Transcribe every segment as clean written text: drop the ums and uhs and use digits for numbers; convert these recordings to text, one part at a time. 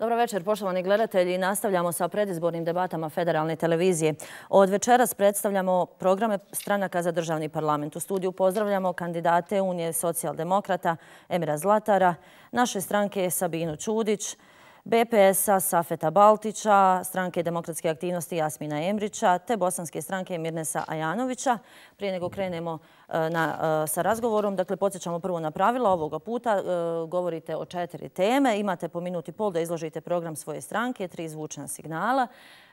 Dobro večer, poštovani gledatelji. Nastavljamo sa predizbornim debatama Federalne televizije. Od večeras predstavljamo programe stranaka za državni parlament. U studiju pozdravljamo kandidate Unije socijaldemokrata Emira Zlatara, naše stranke Sabinu Čudić, BPS-a Safeta Baltića, stranke demokratske aktivnosti Jasmina Emrića te bosanske stranke Mirnesa Ajanovića. Prije nego krenemo sa razgovorom, dakle, podsjećamo prvo na pravila. Ovoga puta govorite o 4 teme. Imate po minuti i pol da izložite program svoje stranke, 3 zvučna signala.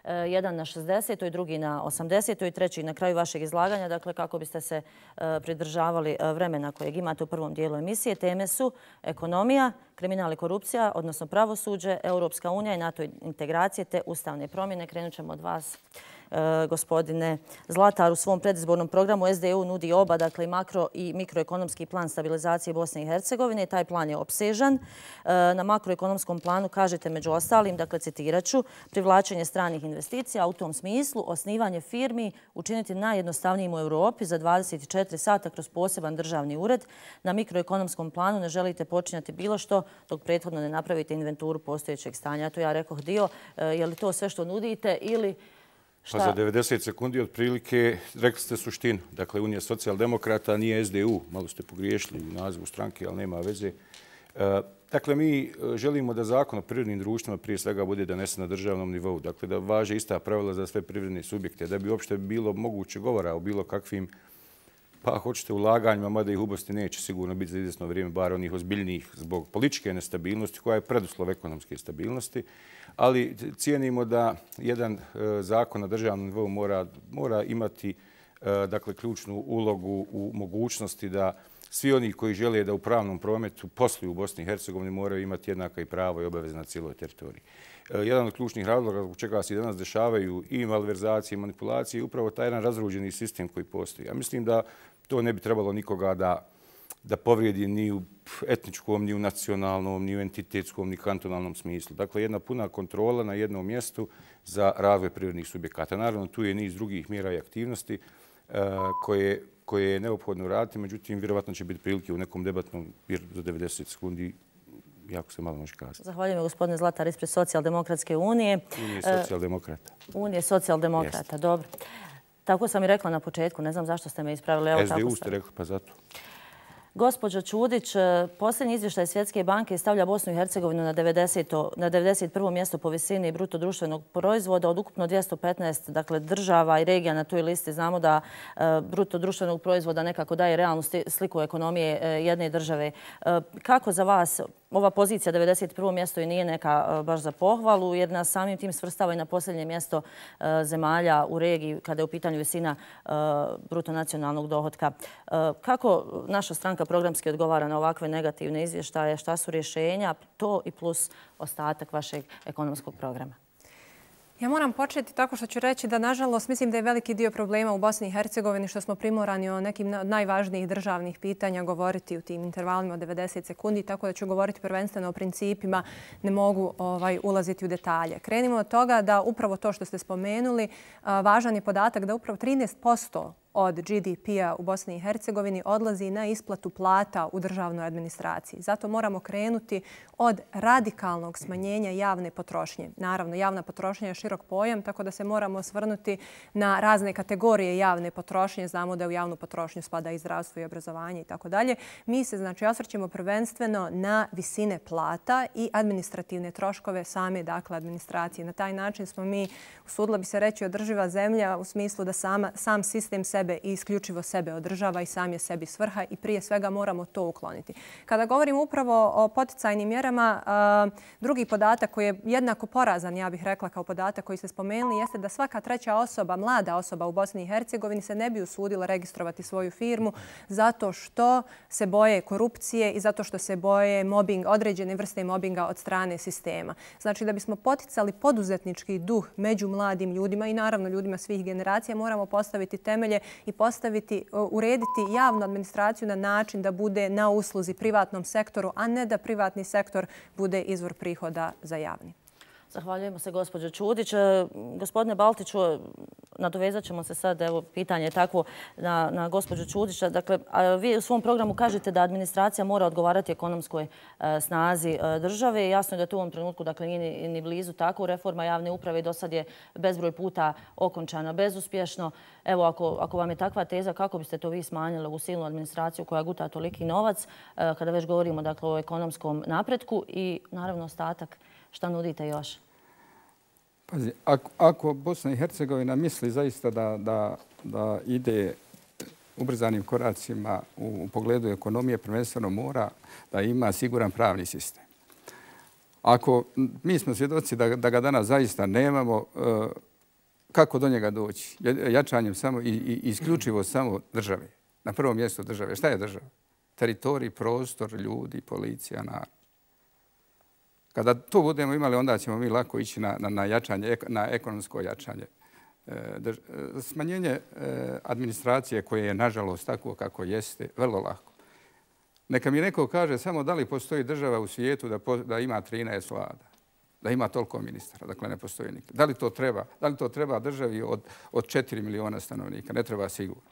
Jedan na 60. drugi na 80. i treći na kraju vašeg izlaganja. Dakle, kako biste se pridržavali vremena kojeg imate u prvom dijelu emisije. Teme su ekonomija, kriminal i korupcija, odnosno pravosuđe, Europska unija i NATO integracije te ustavne promjene. Krenut ćemo od vas, gospodine Zlatar. U svom predizbornom programu SDU nudi oba, dakle i makro i mikroekonomski plan stabilizacije Bosne i Hercegovine. Taj plan je opsežan. Na makroekonomskom planu kažete među ostalim, dakle citirat ću, privlačenje stranih investicija, a u tom smislu osnivanje firmi učiniti najjednostavnijim u Europi za 24 sata kroz poseban državni ured. Na mikroekonomskom planu ne želite počinjati bilo što dok prethodno ne napravite inventuru postojećeg stanja. To ja rekoh dio. Je li to sve što nudite ili Pa za 90 sekundi otprilike rekli ste suštinu. Dakle, Unija socijaldemokrata nije SDU. Malo ste pogriješili u nazivu stranke, ali nema veze. Dakle, mi želimo da zakon o privrednim društvima prije svega bude donesen na državnom nivou. Dakle, da važe ista pravila za sve privredne subjekte. Da bi uopšte bilo moguće govora o bilo kakvim, pa hoćete, ulaganjima, mada ih ubosti neće sigurno biti za izvjesno vrijeme, bar onih ozbiljnijih zbog političke nestabilnosti, koja je preduslov ekonomske stabilnosti. Ali cijenimo da jedan zakon na državnom nivou mora imati dakle, ključnu ulogu u mogućnosti da svi oni koji žele da u pravnom prometu posluju u Bosni i Hercegovini moraju imati jednaka i prava i obaveze na cijeloj teritoriji. Jedan od ključnih razloga zbog čega se danas dešavaju i malverzacije i manipulacije je upravo taj jedan razruđeni sistem koji postoji. Ja mislim da to ne bi trebalo nikoga da povrijedi ni u etničkom, ni u nacionalnom, ni u entitetskom, ni kantonalnom smislu. Dakle, jedna puna kontrola na jednom mjestu za razvoj privrednih subjekata. Naravno, tu je niz drugih mjera i aktivnosti koje je neophodno raditi, međutim, vjerovatno će biti prilike u nekom debatnom za 90 sekundi, jako se malo može kazati. Zahvaljujem, gospodine Zlatar, ispred Socijaldemokratske unije. Unije socijaldemokrata. Unije socijaldemokrata, dobro. Tako sam i rekla na početku, ne znam zašto ste me ispravili. SDU ste rekli, pa zato. Gospođo Čudić, posljednji izvještaj Svjetske banke stavlja Bosnu i Hercegovinu na 91. mjesto po visini bruto društvenog proizvoda od ukupno 215 dakle, država i regija na toj listi. Znamo da bruto društvenog proizvoda nekako daje realnu sliku ekonomije jedne države. Kako za vas ova pozicija 91. mjesto i nije neka baš za pohvalu, jer nas samim tim svrstava i na posljednje mjesto zemalja u regiji kada je u pitanju visina bruto nacionalnog dohotka. Kako naša stranka programski odgovara na ovakve negativne izvještaje? Šta su rješenja? To i plus ostatak vašeg ekonomskog programa. Ja moram početi tako što ću reći da, nažalost, mislim da je veliki dio problema u Bosni i Hercegovini što smo primorani o nekim od najvažnijih državnih pitanja govoriti u tim intervalima od 90 sekundi, tako da ću govoriti prvenstveno o principima, ne mogu ulaziti u detalje. Krenimo od toga da upravo to što ste spomenuli, važan je podatak da upravo 13% od GDP-a u Bosni i Hercegovini odlazi na isplatu plata u državnoj administraciji. Zato moramo krenuti od radikalnog smanjenja javne potrošnje. Naravno, javna potrošnja je širok pojam, tako da se moramo osvrnuti na razne kategorije javne potrošnje. Znamo da u javnu potrošnju spada i zdravstvo i obrazovanje i tako dalje. Mi se, znači, osvrćemo prvenstveno na visine plata i administrativne troškove same, dakle, administracije. Na taj način smo mi, usudila bi se reći, održiva zemlja u smislu da sam sistem sebe i isključivo sebe održava i sam je sebi svrha i prije svega moramo to ukloniti. Kada govorimo upravo o poticajnim mjerama, drugi podatak koji je jednako porazan, ja bih rekla kao podatak koji ste spomenuli, jeste da svaka treća osoba, mlada osoba u Bosni i Hercegovini se ne bi usudila registrovati svoju firmu zato što se boje korupcije i zato što se boje određene vrste mobinga od strane sistema. Znači da bismo poticali poduzetnički duh među mladim ljudima i naravno ljudima svih generacija, moramo postaviti temelje i urediti javnu administraciju na način da bude na usluzi privatnom sektoru, a ne da privatni sektor bude izvor prihoda za javni. Zahvaljujemo se, gospođo Čudić. Gospodine Baltiću, nadovezat ćemo se sad, evo, pitanje je takvo na gospođu Čudića. Dakle, vi u svom programu kažete da administracija mora odgovarati ekonomskoj snazi države. Jasno je da to u ovom trenutku, dakle, nije ni blizu tako. Reforma javne uprave i do sad je bezbroj puta okončana bezuspješno. Evo, ako vam je takva teza, kako biste to vi smanjili u silnu administraciju koja guta toliki novac, kada već govorimo, dakle, o ekonomskom napretku i, naravno, ostatak, šta nudite još? Pazi, ako Bosna i Hercegovina misli zaista da ide ubrzanim koracima u pogledu ekonomije, prvenstveno mora da ima siguran pravni sistem. Ako mi smo svjedoci da ga danas zaista nemamo, kako do njega doći? Jačanjem samo i isključivo samo države. Na prvom mjestu države. Šta je država? Teritorij, prostor, ljudi, policija, narod. Kada to budemo imali, onda ćemo mi lako ići na jačanje, na ekonomsko jačanje. Smanjenje administracije koje je, nažalost, tako kako jeste, vrlo lako. Neka mi neko kaže samo da li postoji država u svijetu da ima 13 vlada, da ima toliko ministara, dakle ne postoji nikad. Da li to treba državi od 4 miliona stanovnika? Ne treba sigurno.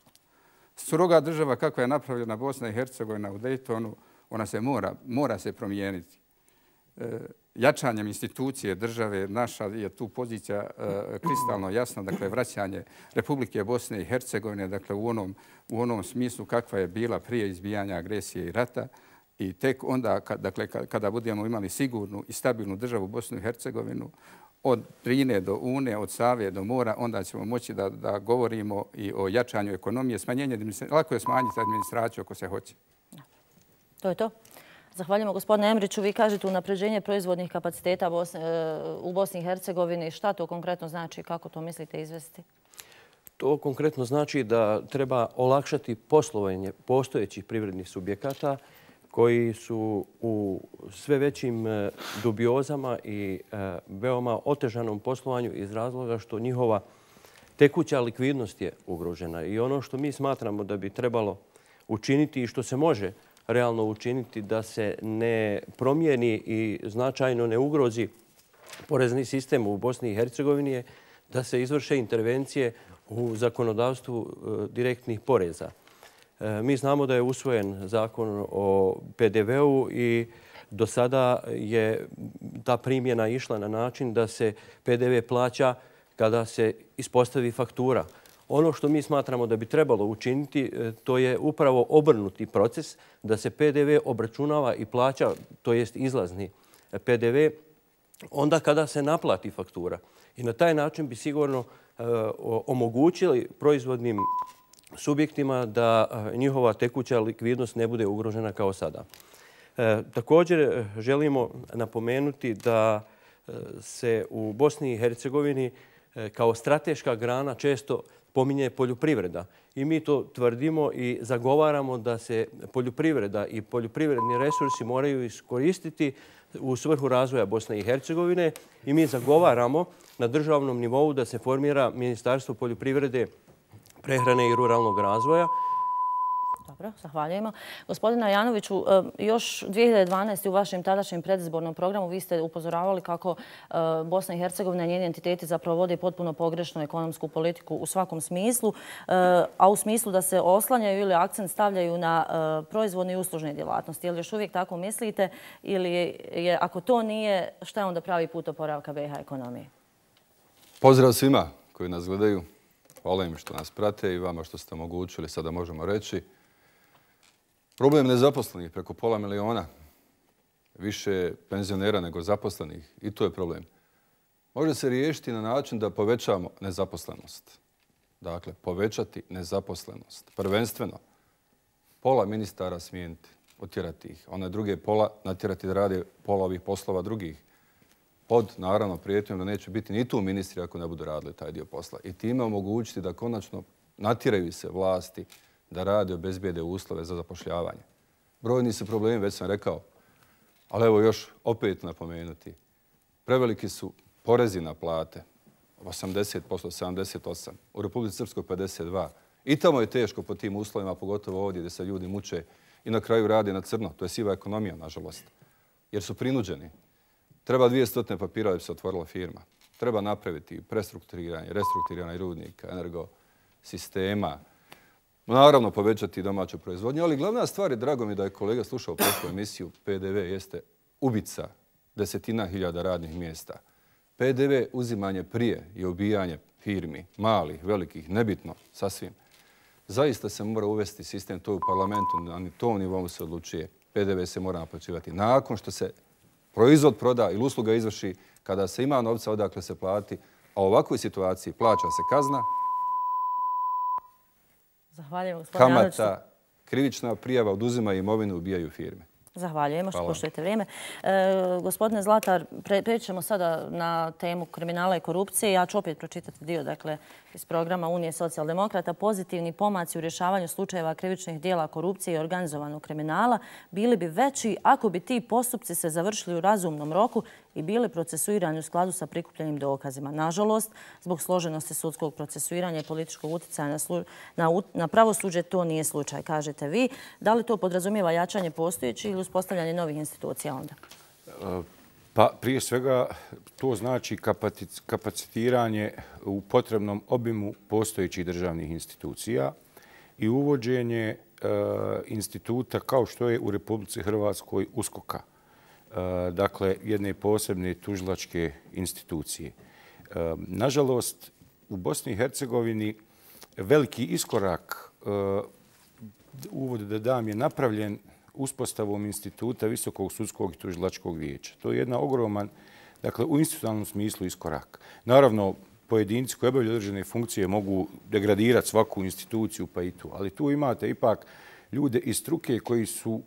Stroga država kakva je napravljena Bosna i Hercegovina u Daytonu, ona se mora se promijeniti. Jačanjem institucije države, naša je tu pozicija kristalno jasna, dakle vraćanje Republike Bosne i Hercegovine, dakle u onom smislu kakva je bila prije izbijanja agresije i rata. I tek onda, dakle, kada budemo imali sigurnu i stabilnu državu Bosnu i Hercegovinu, od Drine do Une, od Save do mora, onda ćemo moći da govorimo i o jačanju ekonomije, lako je smanjiti administraciju ako se hoće. To je to. Zahvaljujemo gospodine Emriću. Vi kažete unapređenje proizvodnih kapaciteta u Bosni i Hercegovini. Šta to konkretno znači? Kako to mislite izvesti? To konkretno znači da treba olakšati poslovanje postojećih privrednih subjekata koji su u sve većim dubiozama i veoma otežanom poslovanju iz razloga što njihova tekuća likvidnost je ugrožena. I ono što mi smatramo da bi trebalo učiniti i što se može realno učiniti da se ne promijeni i značajno ne ugrozi porezni sistem u Bosni i Hercegovini je da se izvrše intervencije u zakonodavstvu direktnih poreza. Mi znamo da je usvojen zakon o PDV-u i do sada je ta primjena išla na način da se PDV plaća kada se ispostavi faktura. Ono što mi smatramo da bi trebalo učiniti, to je upravo obrnuti proces, da se PDV obračunava i plaća, to jest izlazni PDV, onda kada se naplati faktura. I na taj način bi sigurno omogućili proizvodnim subjektima da njihova tekuća likvidnost ne bude ugrožena kao sada. Također želimo napomenuti da se u Bosni i Hercegovini kao strateška grana često pominje poljoprivreda. I mi to tvrdimo i zagovaramo da se poljoprivreda i poljoprivredni resursi moraju iskoristiti u svrhu razvoja Bosne i Hercegovine. I mi zagovaramo na državnom nivou da se formira Ministarstvo poljoprivrede, prehrane i ruralnog razvoja. Dobro, zahvaljujemo. Gospodina Janoviću, još 2012. u vašem tadašnjem predizbornom programu vi ste upozoravali kako Bosna i Hercegovina i njeni entiteti zapravo vode potpuno pogrešnu ekonomsku politiku u svakom smislu, a u smislu da se oslanjaju ili akcent stavljaju na proizvodne i uslužne djelatnosti. Je li još uvijek tako mislite ili je, ako to nije, šta je onda pravi put oporavka BiH ekonomije? Pozdrav svima koji nas gledaju. Hvala im što nas prate i vama što ste omogućili, sada možemo reći. Problem nezaposlenih preko 500 miliona, više penzionera nego zaposlenih, i to je problem. Može se riješiti na način da povećamo nezaposlenost. Dakle, povećati nezaposlenost. Prvenstveno, pola ministara smijeniti, otjerati ih. One druge pola natjerati da rade pola ovih poslova drugih. Pod, naravno, prijetnjom da neće biti ni tu ministri ako ne budu radili taj dio posla. I time omogućiti da konačno natjeraju se vlasti da rade, obezbijede uslove za zapošljavanje. Brojni su problemi, već sam rekao, ali evo još opet napomenuti. Preveliki su porezi na plate, 80%, 78%, u Republici Srpskoj 52%. I tamo je teško po tim uslovima, pogotovo ovdje gdje se ljudi muče i na kraju rade na crno. To je siva ekonomija, nažalost, jer su prinuđeni. Treba 200 papira da bi se otvorila firma. Treba napraviti prestrukturiranje, restrukturiranje rudnika, energosistema, naravno povećati domaću proizvodnju, ali glavna stvar je, drago mi da je kolega slušao prošlu emisiju, PDV jeste ubica desetina hiljada radnih mjesta. PDV uzimanje prije i ubijanje firmi, malih, velikih, nebitno, sasvim. Zaista se mora uvesti sistem, to u parlamentu, na tom nivou se odlučuje. PDV se mora naplaćivati nakon što se proizvod proda ili usluga izvrši, kada se ima novca odakle se plati, a u ovakvoj situaciji plaća se kazna, kamata, krivična prijava, oduzimaju imovinu, ubijaju firme. Zahvaljujemo što poštujete vrijeme. Gospodine Zlatar, prećemo sada na temu kriminala i korupcije. Ja ću opet pročitati dio iz programa Unije socijaldemokrata. Pozitivni pomaci u rješavanju slučajeva krivičnih dijela korupcije i organizovanog kriminala bili bi veći ako bi ti postupci se završili u razumnom roku i bili procesuirani u skladu sa prikupljenim dokazima. Nažalost, zbog složenosti sudskog procesuiranja i političkog utjecaja na pravosuđe, to nije slučaj, kažete vi. Da li to podrazumijeva jačanje postojećih ili uspostavljanje novih institucija onda? Pa prije svega to znači kapacitiranje u potrebnom obimu postojećih državnih institucija i uvođenje instituta kao što je u Republici Hrvatskoj USKOK-a. Dakle, jedne posebne tužilačke institucije. Nažalost, u Bosni i Hercegovini veliki iskorak, uvod da dam, je napravljen uspostavom instituta Visokog sudskog i tužilačkog vijeća. To je jedna ogroman, dakle, u institucionalnom smislu iskorak. Naravno, pojedinci koji obavljaju određene funkcije mogu degradirati svaku instituciju, pa i tu. Ali tu imate ipak ljude iz struke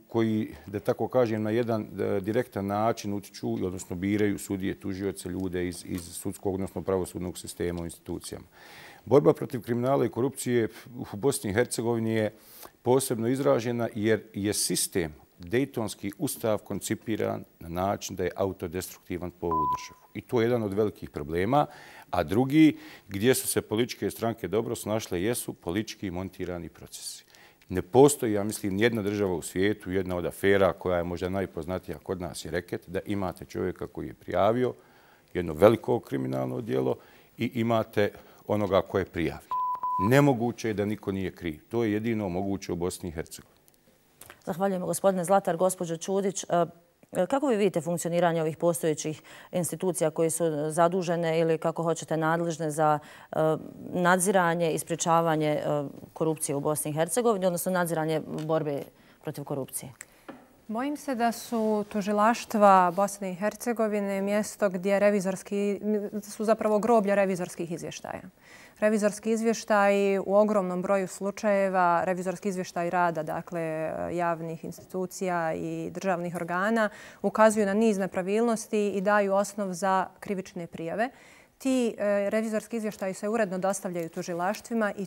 koji, da tako kažem, na jedan direktan način utiču, odnosno biraju sudije, tužioce, ljude iz sudskog, odnosno pravosudnog sistema u institucijama. Borba protiv kriminala i korupcije u Bosni i Hercegovini je posebno izražena jer je sistem, Dejtonski ustav, koncipiran na način da je autodestruktivan po ovu državu. I to je jedan od velikih problema. A drugi, gdje su se političke stranke dobro snašle, jesu politički montirani procesi. Ne postoji, ja mislim, nijedna država u svijetu, jedna od afera koja je možda najpoznatija kod nas je reket, da imate čovjeka koji je prijavio jedno veliko kriminalno djelo i imate onoga koje je prijavio. Nemoguće je da niko nije kriv. To je jedino moguće u Bosni i Hercegovini. Zahvaljujemo, gospodine Zlatar. Gospođo Čudić, kako vi vidite funkcioniranje ovih postojećih institucija koje su zadužene ili, kako hoćete, nadležne za nadziranje i sprječavanje korupcije u Bosni i Hercegovini, odnosno nadziranje borbe protiv korupcije? Bojim se da su tužilaštva Bosne i Hercegovine mjesto gdje su zapravo groblja revizorskih izvještaja. Revizorski izvještaj u ogromnom broju slučajeva, revizorski izvještaj rada, dakle, javnih institucija i državnih organa, ukazuju na niz nepravilnosti i daju osnov za krivične prijave. Ti revizorski izvještaji se uredno dostavljaju tužilaštvima i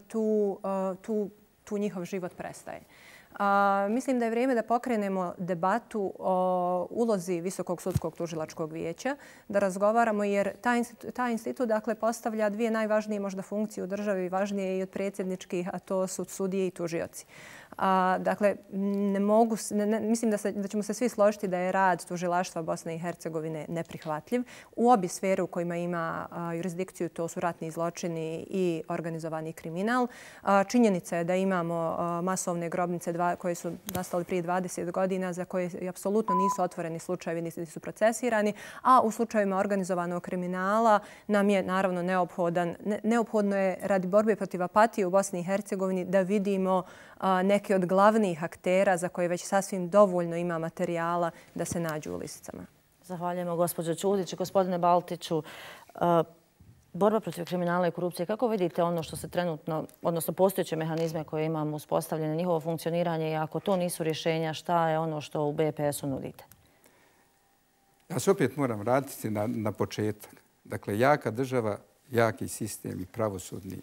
tu njihov život prestaje. Mislim da je vrijeme da pokrenemo debatu o ulozi Visokog sudskog tužilačkog vijeća, da razgovaramo jer taj institut postavlja dvije najvažnije možda funkcije u državi, važnije i od predsjedničkih, a to su sudije i tužioci. Dakle, mislim da ćemo se svi složiti da je rad tužilaštva Bosne i Hercegovine neprihvatljiv. U obje sfere u kojima ima jurisdikciju, to su ratni zločini i organizovani kriminal. Činjenica je da imamo masovne grobnice koje su nastale prije 20 godina, za koje apsolutno nisu otvoreni slučajevi, niti su procesirani, a u slučajevima organizovanog kriminala nam je naravno neophodno je radi borbe protiv apatije u Bosni i Hercegovini da vidimo neke od glavnih aktera za koje već sasvim dovoljno ima materijala da se nađu u lisicama. Zahvaljujemo, gospođo Čudić i gospodine Baltiću. Borba protiv kriminala i korupcije, kako vidite ono što se trenutno, odnosno postojeće mehanizme koje imamo uspostavljene, njihovo funkcioniranje i ako to nisu rješenja, šta je ono što u BPS-u nudite? Ja se opet moram vratiti na početak. Dakle, jaka država, jaki sistem i pravosudni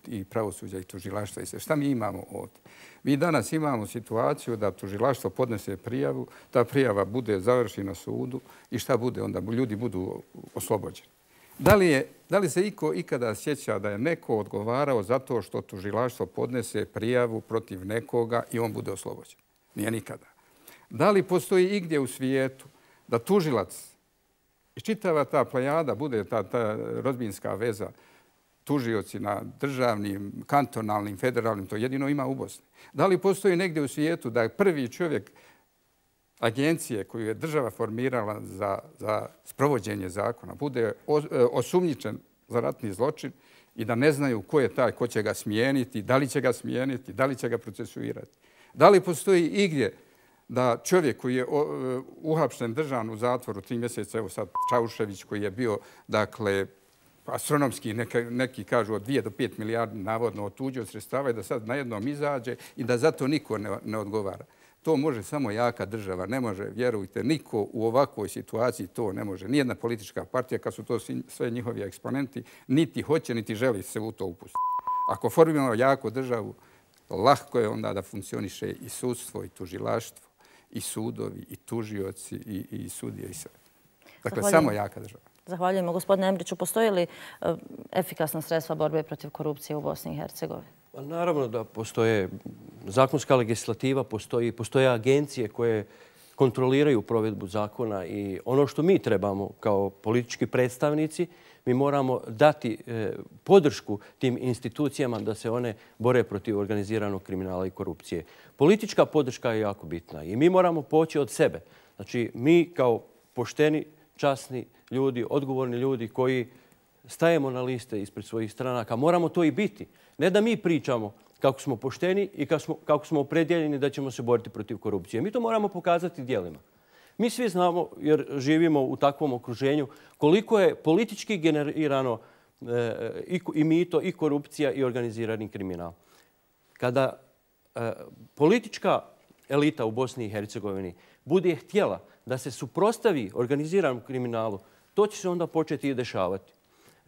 i pravosuđa i tužilaštva i sve. Šta mi imamo ovdje? Mi danas imamo situaciju da tužilaštvo podnese prijavu, ta prijava bude završena na sudu i šta bude onda? Ljudi budu oslobođeni. Da li se iko ikada sjeća da je neko odgovarao zato što tužilaštvo podnese prijavu protiv nekoga i on bude oslobođen? Nije nikada. Da li postoji igdje u svijetu da tužilac I čitava ta plejada bude ta rodbinska veza, tužioci na državnim, kantonalnim, federalnim, to jedino ima u Bosni. Da li postoji negdje u svijetu da prvi čovjek agencije koju je država formirala za sprovođenje zakona bude osumnjičen za ratni zločin i da ne znaju ko je taj, ko će ga smijeniti, da li će ga smijeniti, da li će ga procesuirati? Da li postoji igdje da čovjek koji je uhapšen, držan u zatvoru 3 mjeseca, evo sad Čaušević koji je bio, dakle, astronomski, neki kažu od 2 do 5 milijardi navodno otuđio sredstava i da sad najednom izađe i da zato niko ne odgovara. To može samo jaka država, ne može, vjerujte, niko u ovakvoj situaciji to ne može. Nijedna politička partija, kad su to sve njihovi eksponenti, niti hoće, niti želi se u to upustiti. Ako formiramo jaku državu, lahko je onda da funkcioniše i sudstvo, i tužilaštvo, i sudovi, i tužioci, i sudije, i sve. Dakle, samo jaka država. Zahvaljujemo. Gospodine Embriću, postoji li efikasna sredstva borbe protiv korupcije u Bosni i Hercegovini? Naravno da postoje zakonska legislativa, postoje agencije koje kontroliraju provedbu zakona i ono što mi trebamo kao politički predstavnici, mi moramo dati podršku tim institucijama da se one bore protiv organiziranog kriminala i korupcije. Politička podrška je jako bitna i mi moramo poći od sebe. Znači, mi kao pošteni, časni ljudi, odgovorni ljudi koji stajemo na liste ispred svojih stranaka, moramo to i biti. Ne da mi pričamo kako smo pošteni i kako smo opredjeljeni da ćemo se boriti protiv korupcije. Mi to moramo pokazati djelima. Mi svi znamo, jer živimo u takvom okruženju, koliko je politički generirano i mito, i korupcija, i organizirani kriminal. Kada politička elita u Bosni i Hercegovini bude htjela da se suprotstavi organiziranom kriminalu, to će se onda početi i dešavati.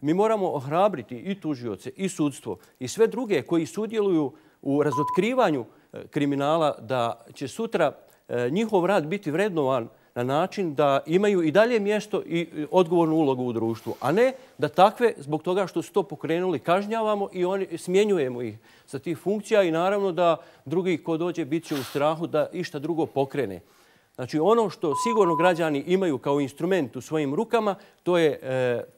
Mi moramo ohrabriti i tužioce, i sudstvo, i sve druge koji sudjeluju u razotkrivanju kriminala, da će sutra njihov rad biti vrednovan na način da imaju i dalje mjesto i odgovornu ulogu u društvu, a ne da takve, zbog toga što su to pokrenuli, kažnjavamo i smjenjujemo ih sa tih funkcija i naravno da drugi ko dođe bit će u strahu da išta drugo pokrene. Znači, ono što sigurno građani imaju kao instrument u svojim rukama, to je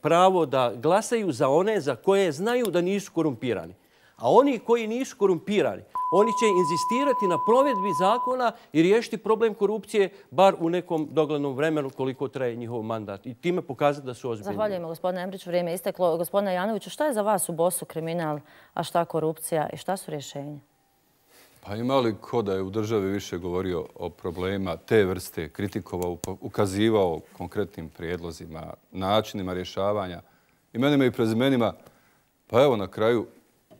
pravo da glasaju za one za koje znaju da nisu korumpirani. A oni koji nisu korumpirani, oni će inzistirati na provedbi zakona i riješiti problem korupcije bar u nekom doglednom vremenu koliko traje njihov mandat. I time pokazati da su ozbiljni. Zahvaljujemo, gospodine Embrić. Vrijeme je isteklo. Gospodine Janoviću, šta je za vas u Bosu kriminal, a šta korupcija i šta su rješenja? Pa ima li ko da je u državi više govorio o problema te vrste, kritikovao, ukazivao konkretnim prijedlozima, načinima rješavanja, imenima i prezimenima? Pa evo na kraju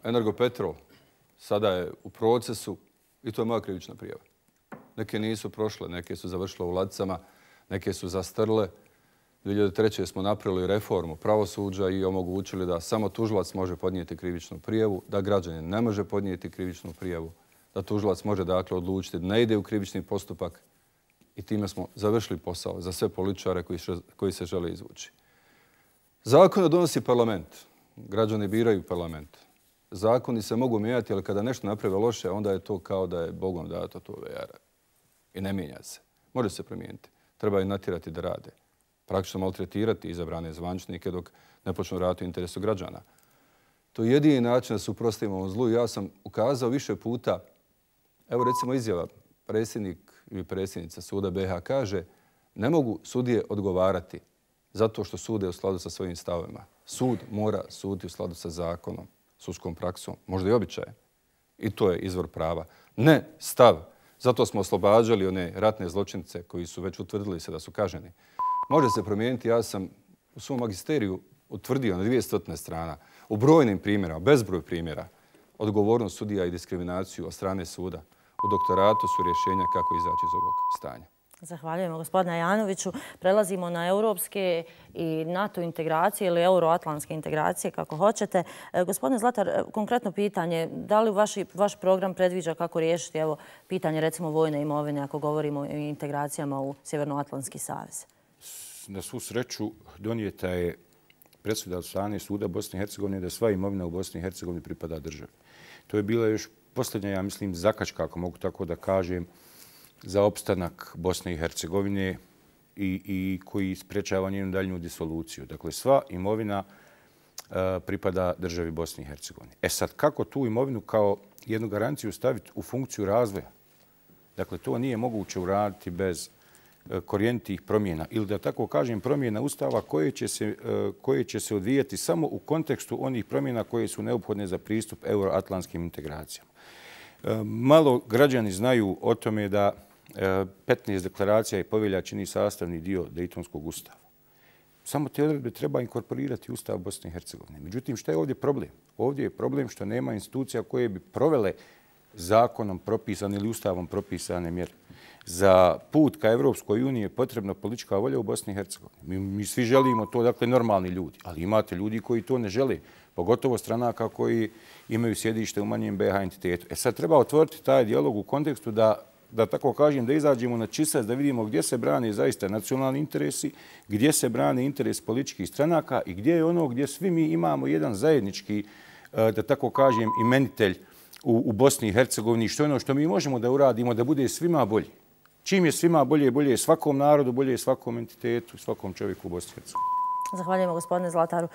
Energopetrol sada je u procesu i to je moja krivična prijava. Neke nisu prošle, neke su završile u ladicama, neke su zastrle. 2003. smo napravili reformu pravosuđa i omogućili da samo tužilac može podnijeti krivičnu prijavu, da građanin ne može podnijeti krivičnu prijavu, da tužilac može dakle odlučiti da ne ide u krivični postupak i time smo završili posao za sve političare koji se žele izvući. Zakone donosi parlament. Građani biraju parlament. Zakoni se mogu mijenjati, ali kada nešto naprave loše, onda je to kao da je Bogom dato to vejara. I ne mijenja se. Može se promijeniti. Treba i natjerati da rade. Praktično maltretirati izabrane zvančnike dok ne počnu raditi u interesu građana. To je jedini način da se uprostimo ovom zlu. Ja sam ukazao više puta, evo recimo izjava, predsjednik ili predsjednica suda BiH kaže ne mogu sudije odgovarati zato što sude u skladu sa svojim stavovima. Sud mora suditi u skladu sa zakonom, sudskom praksom, možda i običajem. I to je izvor prava. Ne stav. Zato smo oslobađali one ratne zločince koji su već utvrdili se da su kažnjeni. Može se promijeniti. Ja sam u svom magisteriju utvrdio na 200 strana u brojnim primjerama, bezbroj primjera, odgovornost sudija i diskriminaciju od strane suda. U doktoratu su rješenja kako izaći iz ovog stanja. Zahvaljujemo, gospodine Janoviću. Prelazimo na europske i NATO integracije ili euroatlantske integracije, kako hoćete. Gospodine Zlatar, konkretno pitanje, da li vaš program predviđa kako riješiti pitanje recimo vojne imovine ako govorimo o integracijama u Sjevernoatlantski savez? Na svu sreću donijeta je presuda od strane suda Bosne i Hercegovine da sva imovina u Bosni i Hercegovini pripada državi. To je bila još posljednja, ja mislim, zakačka, ako mogu tako da kažem, za opstanak Bosne i Hercegovine i koji sprečava njenu daljnju disoluciju. Dakle, sva imovina pripada državi Bosne i Hercegovine. Sad, kako tu imovinu kao jednu garanciju staviti u funkciju razvoja? Dakle, to nije moguće uraditi bez korijenitih promjena ili, da tako kažem, promjena Ustava koje će se odvijati samo u kontekstu onih promjena koje su neophodne za pristup euroatlantskim integracijama. Malo građani znaju o tome da 15 deklaracija i povelja čini sastavni dio Dejtonskog ustava. Samo te odredbe treba inkorporirati u Ustav Bosne i Hercegovine. Međutim, šta je ovdje problem? Ovdje je problem što nema institucija koje bi provele zakonom propisane ili ustavom propisane mjere. Za put ka Evropskoj uniji je potrebna politička volja u Bosni i Hercegovini. Mi svi želimo to, dakle, normalni ljudi, ali imate ljudi koji to ne žele, pogotovo stranaka koji imaju sjedište u manjem BiH entitetu. Sad treba otvoriti taj dijalog u kontekstu da tako kažem, da izađemo na čistac, da vidimo gdje se brane zaista nacionalni interesi, gdje se brane interes političkih stranaka i gdje je ono gdje svi mi imamo jedan zajednički, da tako kažem, imenitelj u Bosni i Hercegovini, što je ono što mi možemo da uradimo da bude svima bolje. Čim je svima bolje, bolje je svakom narodu, bolje je svakom entitetu, svakom čovjeku u Bosni i Hercegovini. Zahvaljujemo gospodine Zlataru.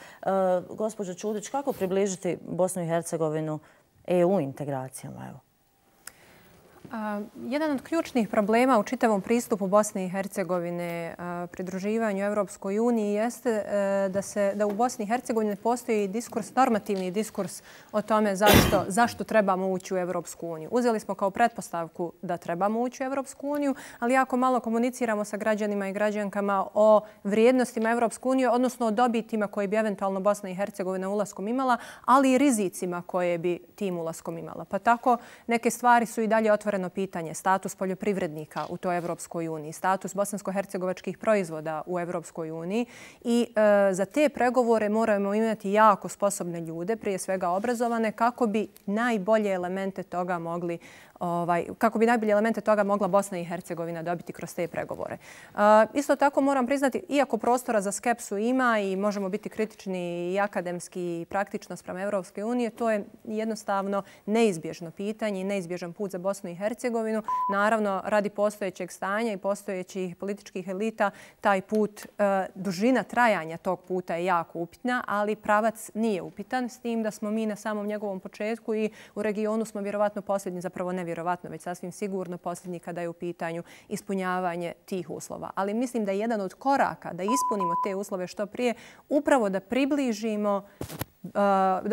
Gospođo Čudić, kako približiti Bosnu i Hercegovinu EU integracijama? Evo. Jedan od ključnih problema u čitavom pristupu Bosne i Hercegovine pridruživanju Evropskoj uniji jeste da u Bosni i Hercegovini postoji normativni diskurs o tome zašto trebamo ući u Evropsku uniju. Uzeli smo kao pretpostavku da trebamo ući u Evropsku uniju, ali jako malo komuniciramo sa građanima i građankama o vrijednostima Evropske unije, odnosno o dobitima koje bi eventualno Bosna i Hercegovina ulaskom imala, ali i rizicima koje bi tim ulaskom imala. Pa tako neke stvari su i dalje otvorene pitanje, status poljoprivrednika u toj Evropskoj uniji, status bosansko-hercegovačkih proizvoda u Evropskoj uniji i za te pregovore moramo imati jako sposobne ljude, prije svega obrazovane, kako bi najbolje elemente toga mogla Bosna i Hercegovina dobiti kroz te pregovore. Isto tako moram priznati, iako prostora za skepsu ima i možemo biti kritični i akademski i praktično sprem Evropske unije, to je jednostavno neizbježno pitanje i neizbježan put za Bosnu i Hercegovinu. Naravno, radi postojećeg stanja i postojećih političkih elita, taj put, dužina trajanja tog puta je jako upitna, ali pravac nije upitan, s tim da smo mi na samom njegovom početku i u regionu smo vjerovatno posljednji, zapravo nevjerovatno, već sasvim sigurno posljednji kada je u pitanju ispunjavanje tih uslova. Ali mislim da je jedan od koraka da ispunimo te uslove što prije, upravo da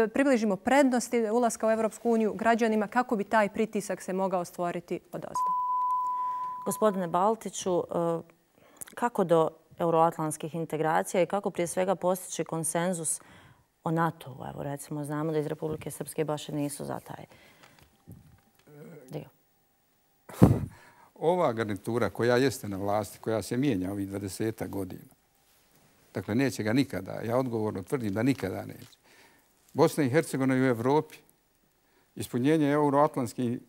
približimo prednosti ulaska u Evropsku uniju građanima kako bi taj pritisak se mogao stvoriti odozdo. Gospodine Baltiću, kako do euroatlantskih integracija i kako prije svega postići konsenzus o NATO-u? Evo, recimo, znamo da iz Republike Srpske baš nisu za taj dio. Ova garnitura koja jeste na vlasti, koja se mijenja ovih 20 godina, dakle, neće ga nikada. Ja odgovorno tvrdim da nikada neće. Bosna i Hercegovina i u Evropi, ispunjenje euroatlantskih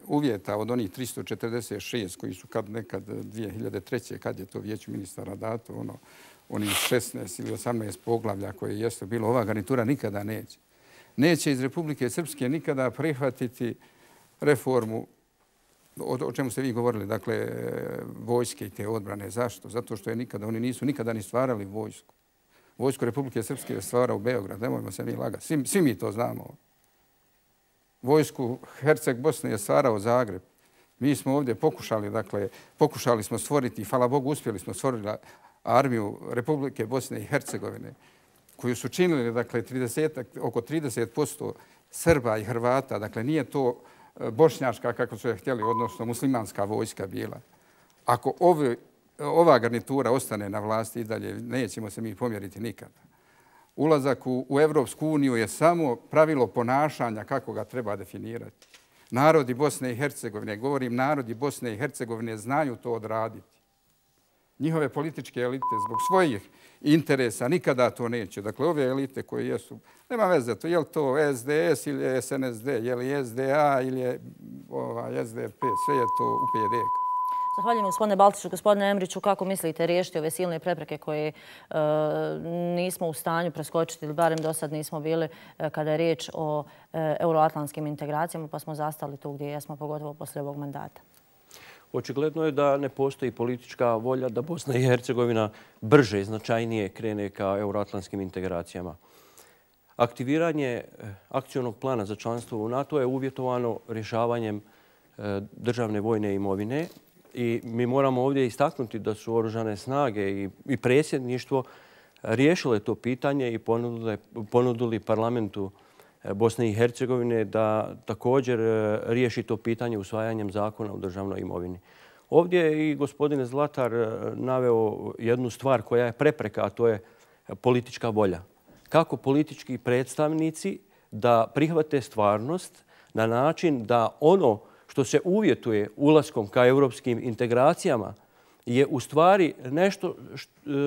uvjeta od onih 346 koji su nekad 2003. kad je to vijeću ministara dato, onih 16 ili 18 poglavlja koje jeste bilo, ova garnitura nikada neće. Neće iz Republike Srpske nikada prihvatiti reformu, o čemu ste vi govorili, dakle, vojske i te odbrane. Zašto? Zato što oni nisu nikada ni stvarali vojsku. Vojsku Republike Srpske je stvarao Beograd, nemojmo se mi lagati. Svi mi to znamo. Vojsku Herceg Bosne je stvarao Zagreb. Mi smo ovdje pokušali smo stvoriti, hvala Bogu, uspjeli smo stvoriti armiju Republike Bosne i Hercegovine, koju su činili, dakle, oko 30% Srba i Hrvata. Dakle, nije to bošnjačka, kako su je htjeli, odnosno muslimanska vojska bila. Ako ova garnitura ostane na vlasti i dalje, nećemo se mi pomjeriti nikada. Ulazak u Evropsku uniju je samo pravilo ponašanja kako ga treba definirati. Narodi Bosne i Hercegovine, govorim narodi Bosne i Hercegovine, znaju to odraditi. Njihove političke elite zbog svojih interesa nikada to neće. Dakle, ove elite koje jesu, nema veze to, je li to SDS ili je SNSD, je li SDA ili je SDP, sve je to UPD. Zahvaljujem gospodine Baltiću. Gospodine Emriću, kako mislite riješiti ove silne prepreke koje nismo u stanju preskočiti ili barem do sad nismo bili kada je riječ o euroatlantskim integracijama, pa smo zastali tu gdje jesmo, pogotovo poslije ovog mandata? očigledno je da ne postoji politička volja da Bosna i Hercegovina brže i značajnije krene ka euroatlantskim integracijama. Aktiviranje akcionog plana za članstvo u NATO je uvjetovano rješavanjem državne vojne imovine i mi moramo ovdje istaknuti da su oružane snage i predsjedništvo riješile to pitanje i ponudili parlamentu Bosne i Hercegovine da također riješi to pitanje usvajanjem zakona o državnoj imovini. Ovdje je i gospodin Zlatar naveo jednu stvar koja je prepreka, a to je politička volja. Kako politički predstavnici da prihvate stvarnost na način da ono što se uvjetuje ulaskom ka europskim integracijama je u stvari nešto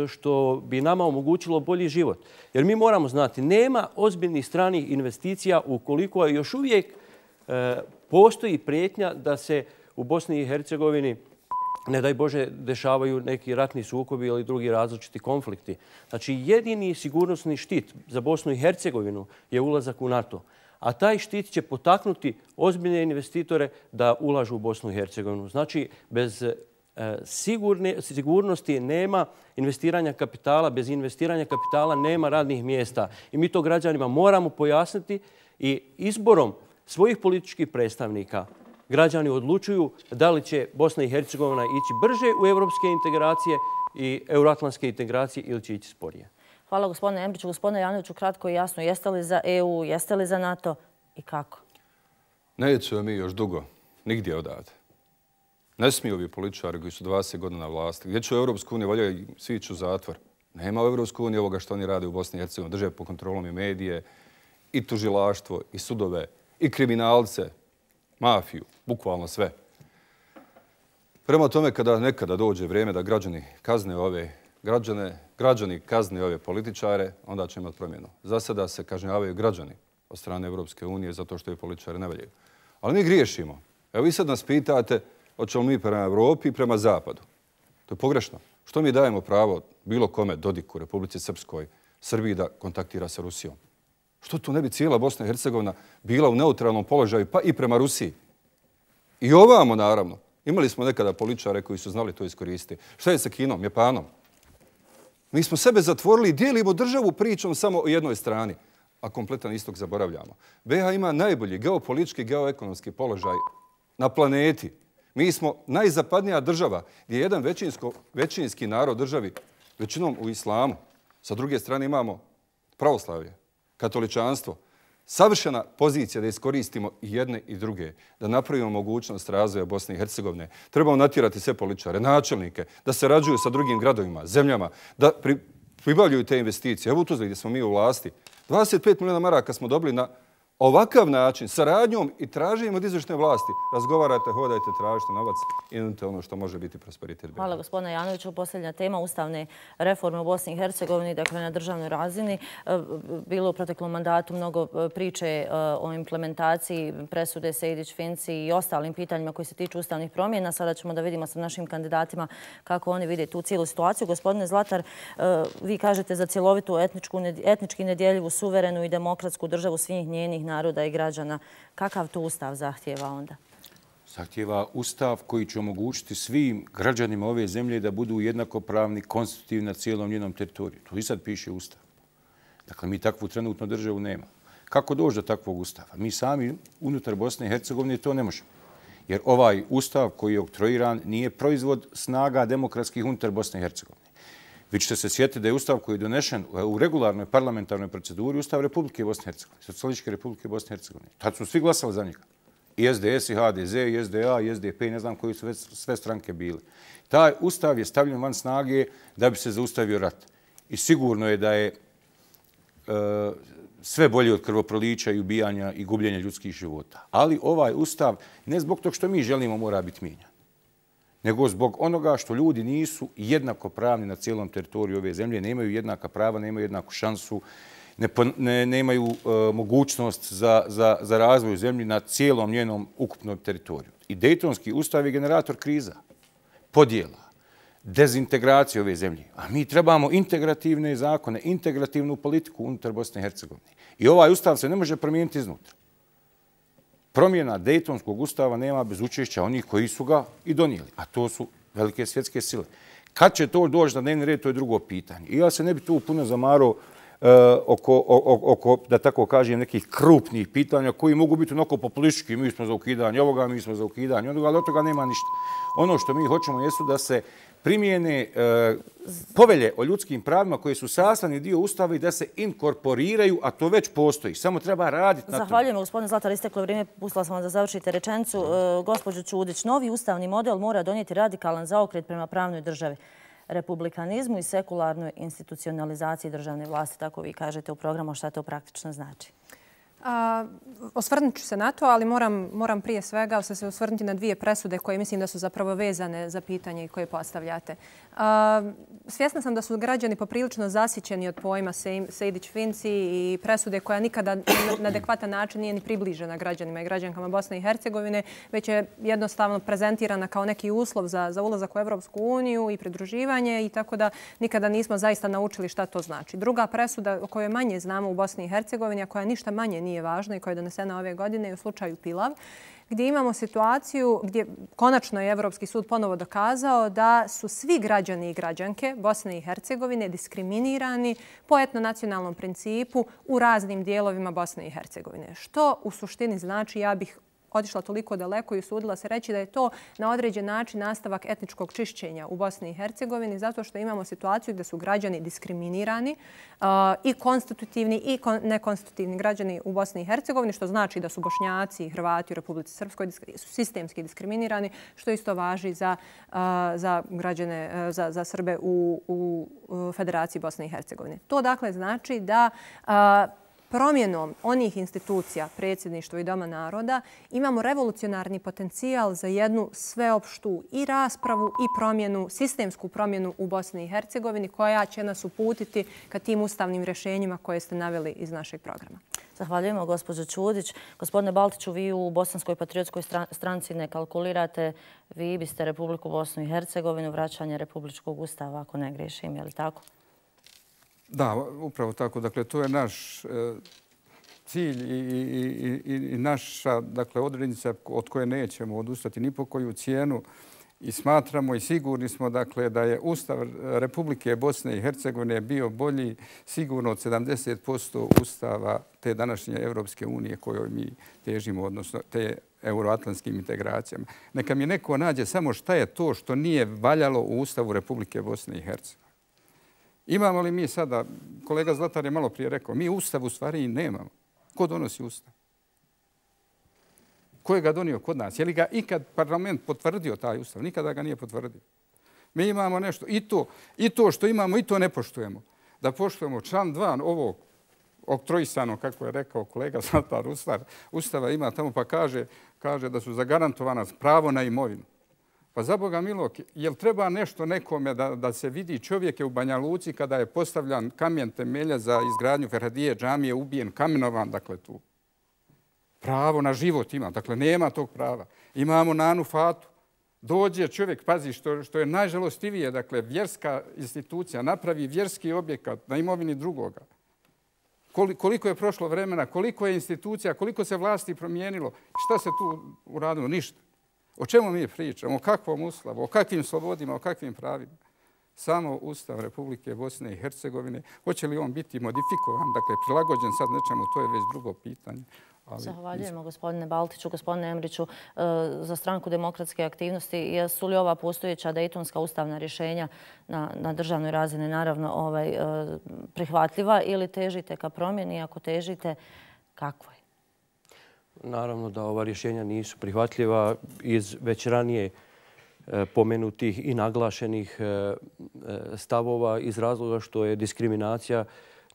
što bi nama omogućilo bolji život. Jer mi moramo znati, nema ozbiljnih stranih investicija ukoliko još uvijek postoji prijetnja da se u Bosni i Hercegovini, ne daj Bože, dešavaju neki ratni sukobi ili drugi različiti konflikti. Znači, jedini sigurnosni štit za Bosnu i Hercegovinu je ulazak u NATO. A taj štit će potaknuti ozbiljne investitore da ulažu u Bosnu i Hercegovinu. Znači, bez sigurnosti nema investiranja kapitala, bez investiranja kapitala nema radnih mjesta. I mi to građanima moramo pojasniti i izborom svojih političkih predstavnika građani odlučuju da li će Bosna i Hercegovina ići brže u evropske integracije i euroatlantske integracije ili će ići sporije. Hvala gospodine Embriću. Gospodine Janoviću, kratko i jasno, jeste li za EU, jeste li za NATO i kako? Nećemo mi još dugo, nigdje odavde. Ne smiju ovi političari koji su 20 godina na vlasti. Gdje će u Europsku uniju, volja svi ići u zatvor. Nema u Europsku uniju ovoga što oni rade u Bosni i Hercegovini. Drže pod kontrolom i medije, i tužilaštvo, i sudove, i kriminalce, mafiju, bukvalno sve. Prema tome, kada nekada dođe vrijeme da građani kazne ove političare, onda će imati promjenu. Za sada se kažnjavaju građani od strane Europske unije zato što je političari ne valjaju. Ali mi griješimo. Evo vi sad nas pitate hoćemo mi prema Evropi i prema Zapadu. To je pogrešno. Što mi dajemo pravo bilo kome, Dodiku, Republici Srpskoj, Srbiji da kontaktira sa Rusijom? Što tu ne bi cijela Bosna i Hercegovina bila u neutralnom položaju, pa i prema Rusiji? I ovamo, naravno. Imali smo nekada političare koji su znali to iskoristiti. Šta je sa Kinom, Japanom? Mi smo sebe zatvorili i dijelimo državu pričom samo o jednoj strani, a kompletan istok zaboravljamo. BiH ima najbolji geopolitički, geoekonomski položaj na planeti. Mi smo najzapadnija država gdje je jedan većinski narod državi, većinom u islamu. Sa druge strane imamo pravoslavlje, katoličanstvo. Savršena pozicija da iskoristimo i jedne i druge, da napravimo mogućnost razvoja Bosne i Hercegovine. Trebamo natjerati sve političare, načelnike, da se rađuju sa drugim gradovima, zemljama, da pribavljaju te investicije. Evo u Tuzli gdje smo mi u vlasti. 25 milijuna maraka smo dobili na ovakav način, saradnjom i traženjem od izvršne vlasti. Razgovarajte, hodajte, tražite novac i nudite ono što može biti prosperitet. Hvala gospodine Janoviću. Posljednja tema ustavne reforme u Bosni i Hercegovini, dakle na državnoj razini. Bilo u proteklom mandatu mnogo priče o implementaciji presude Sejdić-Finci i ostalim pitanjima koji se tiču ustavnih promjena. Sada ćemo da vidimo sa našim kandidatima kako oni vide tu cijelu situaciju. Gospodine Zlatar, vi kažete za cjelovitu etnički nedjeljivu, suverenu i demokratsku državu svih njenih naroda i građana. Kakav to ustav zahtjeva onda? Zahtjeva ustav koji će omogućiti svim građanima ove zemlje da budu jednakopravni, konstitutivni na cijelom njenom teritoriju. To i sad piše ustav. Dakle, mi takvu trenutno državu nema. Kako doći do takvog ustava? Mi sami unutar Bosne i Hercegovine to ne možemo. Jer ovaj ustav koji je oktroiran nije proizvod snaga demokratskih unutar Bosne i Hercegovine. Vi ćete se sjetiti da je ustav koji je donešen u regularnoj parlamentarnoj proceduri ustav Republike Bosne i Hercegovine, Socijalističke Republike Bosne i Hercegovine. Tad su svi glasali za njega. I SDS, i HDZ, i SDA, i SDP, ne znam koji su sve stranke bili. Taj ustav je stavljen van snage da bi se zaustavio rat. I sigurno je da je sve bolje od krvoprolića i ubijanja i gubljenja ljudskih života. Ali ovaj ustav, ne zbog tog što mi želimo, mora biti mijenjan, nego zbog onoga što ljudi nisu jednakopravni na cijelom teritoriju ove zemlje, nemaju jednaka prava, nemaju jednaku šansu, nemaju mogućnost za razvoj zemlji na cijelom njenom ukupnom teritoriju. I Dejtonski ustav je generator kriza, podjela, dezintegracije ove zemlje. A mi trebamo integrativne zakone, integrativnu politiku unutar Bosne i Hercegovine. I ovaj ustav se ne može promijeniti iznutra. promjena Dejtonskog ustava nema bez učešća onih koji su ga i donijeli, a to su velike svjetske sile. Kad će to doći na dnevni red, to je drugo pitanje. I ja se ne bi tu puno zamarao oko, da tako kažem, nekih krupnih pitanja koji mogu biti onako populistički. Mi smo za ukidanje ovoga, mi smo za ukidanje onoga, ali od toga nema ništa. Ono što mi hoćemo jesu da se primijene povelje o ljudskim pravima koje su sastavni dio Ustava i da se inkorporiraju, a to već postoji. Samo treba raditi na to. Zahvaljujemo, gospodine Zlatar, isteklo vrijeme. Pustila sam vam da završite rečenicu. Gospođo Čudić, novi ustavni model mora donijeti radikalan zaokret prema pravnoj državi, republikanizmu i sekularnoj institucionalizaciji državne vlasti. Tako vi kažete u programu, šta to praktično znači. Osvrnut ću se na to, ali moram prije svega se osvrnuti na dvije presude koje mislim da su zapravo vezane za pitanje koje postavljate. Svjesna sam da su građani poprilično zasjećeni od pojma Sejdić-Finci i presude koja nikada na adekvatan način nije ni približena građanima i građankama Bosne i Hercegovine, već je jednostavno prezentirana kao neki uslov za ulazak u Evropsku uniju i pridruživanje i tako da nikada nismo zaista naučili šta to znači. Druga presuda o kojoj manje znamo u Bosni i Hercegovini, a koja ništa manje nije važna i koja je donesena ove godine je u slučaju Pilav, gdje imamo situaciju gdje konačno je Evropski sud ponovo dokazao da su svi građani i građanke Bosne i Hercegovine diskriminirani po etnonacionalnom principu u raznim dijelovima Bosne i Hercegovine. Što u suštini znači, ja bih otišla toliko daleko i usudila se reći da je to na određen način nastavak etničkog čišćenja u Bosni i Hercegovini zato što imamo situaciju gdje su građani diskriminirani i konstitutivni i nekonstitutivni građani u Bosni i Hercegovini, što znači da su Bošnjaci i Hrvati u Republici Srpskoj sistemski diskriminirani, što isto važi za građane, za Srbe u Federaciji Bosne i Hercegovine. To dakle znači da promjenom onih institucija, predsjedništva i Doma naroda, imamo revolucionarni potencijal za jednu sveopštu i raspravu i promjenu, sistemsku promjenu u Bosni i Hercegovini koja će nas uputiti ka tim ustavnim rješenjima koje ste naveli iz našeg programa. Zahvaljujemo, gospođo Čudić. Gospodine Baltiću, vi u Bosanskoj patriotskoj stranci ne kalkulirate. Vi biste Republiku Bosnu i Hercegovinu, vraćanje Republičkog ustava, ako ne griješim, je li tako? Da, upravo tako. Dakle, to je naš cilj i naša odrednica od koje nećemo odustati ni po koju cijenu i smatramo i sigurni smo da je Ustav Republike Bosne i Hercegovine bio bolji sigurno od 70% Ustava te današnje Evropske unije kojoj mi težimo, odnosno te euroatlantskim integracijama. Neka mi neko nađe samo šta je to što nije valjalo u Ustavu Republike Bosne i Hercegovine. Imamo li mi sada, kolega Zlatar je malo prije rekao, mi Ustav u stvari i nemamo. Ko donosi Ustav? Ko je ga donio kod nas? Je li ga ikad parlament potvrdio taj Ustav? Nikada ga nije potvrdio. Mi imamo nešto. I to što imamo, i to ne poštujemo. Da poštujemo član 2 ovog oktrojisanog, kako je rekao kolega Zlatar, Ustava ima tamo pa kaže da su zagarantovana pravo na imovinu. Pa za Boga milog, jel treba nešto nekome da se vidi čovjek je u Banja Luci kada je postavljan kamen temelja za izgradnju Ferhadije džamije, ubijen, kamenovan, dakle tu. Pravo na život ima, dakle nema tog prava. Imamo Nanu Fatu. Dođe čovjek, pazi, što je najžalostivije, dakle vjerska institucija napravi vjerski objekat na imovini drugoga. Koliko je prošlo vremena, koliko je institucija, koliko se vlasti promijenilo, šta se tu uradilo? Ništa. O čemu mi pričamo? O kakvom Ustavu? O kakvim slobodima? O kakvim pravima? Samo Ustav Republike Bosne i Hercegovine. Hoće li on biti modifikovan, dakle prilagođen sad nečemu, to je već drugo pitanje. Zahvaljujemo gospodine Baltiću, gospodine Emriću, za stranku demokratske aktivnosti. Jesu li ova postojeća dejtonska ustavna rješenja na državnoj razini naravno prihvatljiva ili težite ka promjeni? Ako težite, kako je? Naravno da ova rješenja nisu prihvatljiva iz već ranije pomenutih i naglašenih stavova iz razloga što je diskriminacija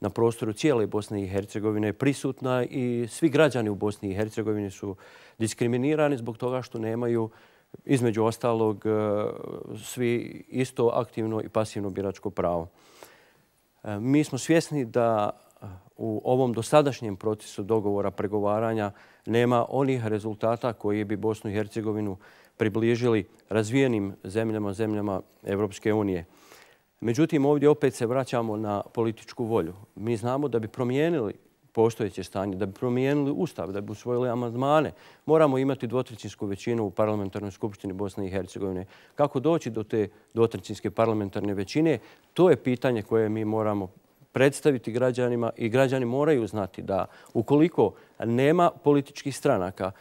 na prostoru cijele Bosne i Hercegovine prisutna i svi građani u Bosni i Hercegovini su diskriminirani zbog toga što nemaju, između ostalog, svi isto aktivno i pasivno biračko pravo. Mi smo svjesni da u ovom dosadašnjem procesu dogovora pregovaranja nema onih rezultata koji bi Bosnu i Hercegovinu približili razvijenim zemljama Evropske unije. Međutim, ovdje opet se vraćamo na političku volju. Mi znamo da bi promijenili postojeće stanje, da bi promijenili ustav, da bi usvojili amandmane, moramo imati dvotrećinsku većinu u parlamentarnoj skupštini Bosne i Hercegovine. Kako doći do te dvotrećinske parlamentarne većine, to je pitanje koje mi moramo predstaviti građanima i građani moraju znati da ukoliko nema političkih stranaka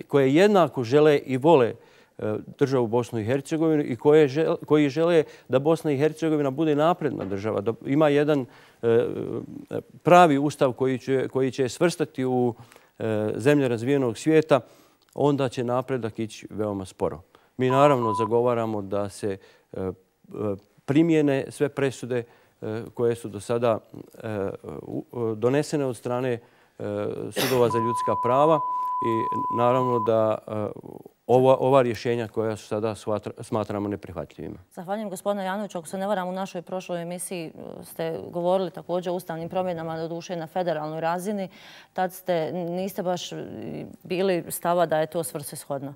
koje jednako žele i vole državu Bosnu i Hercegovinu i koji žele da Bosna i Hercegovina bude napredna država, da ima jedan pravi ustav koji će svrstati u zemlje razvijenog svijeta, onda će napredak ići veoma sporo. Mi naravno zagovaramo da se primjene sve presude koje su do sada donesene od strane sudova za ljudska prava i naravno da ova rješenja koja su sada smatramo neprihvatljivima. Zahvaljujem gospodine Janoviću. Ako se ne varam, u našoj prošloj emisiji ste govorili također o ustavnim promjenama, doduše na federalnoj razini. Tad niste baš bili stava da je to svrsishodno.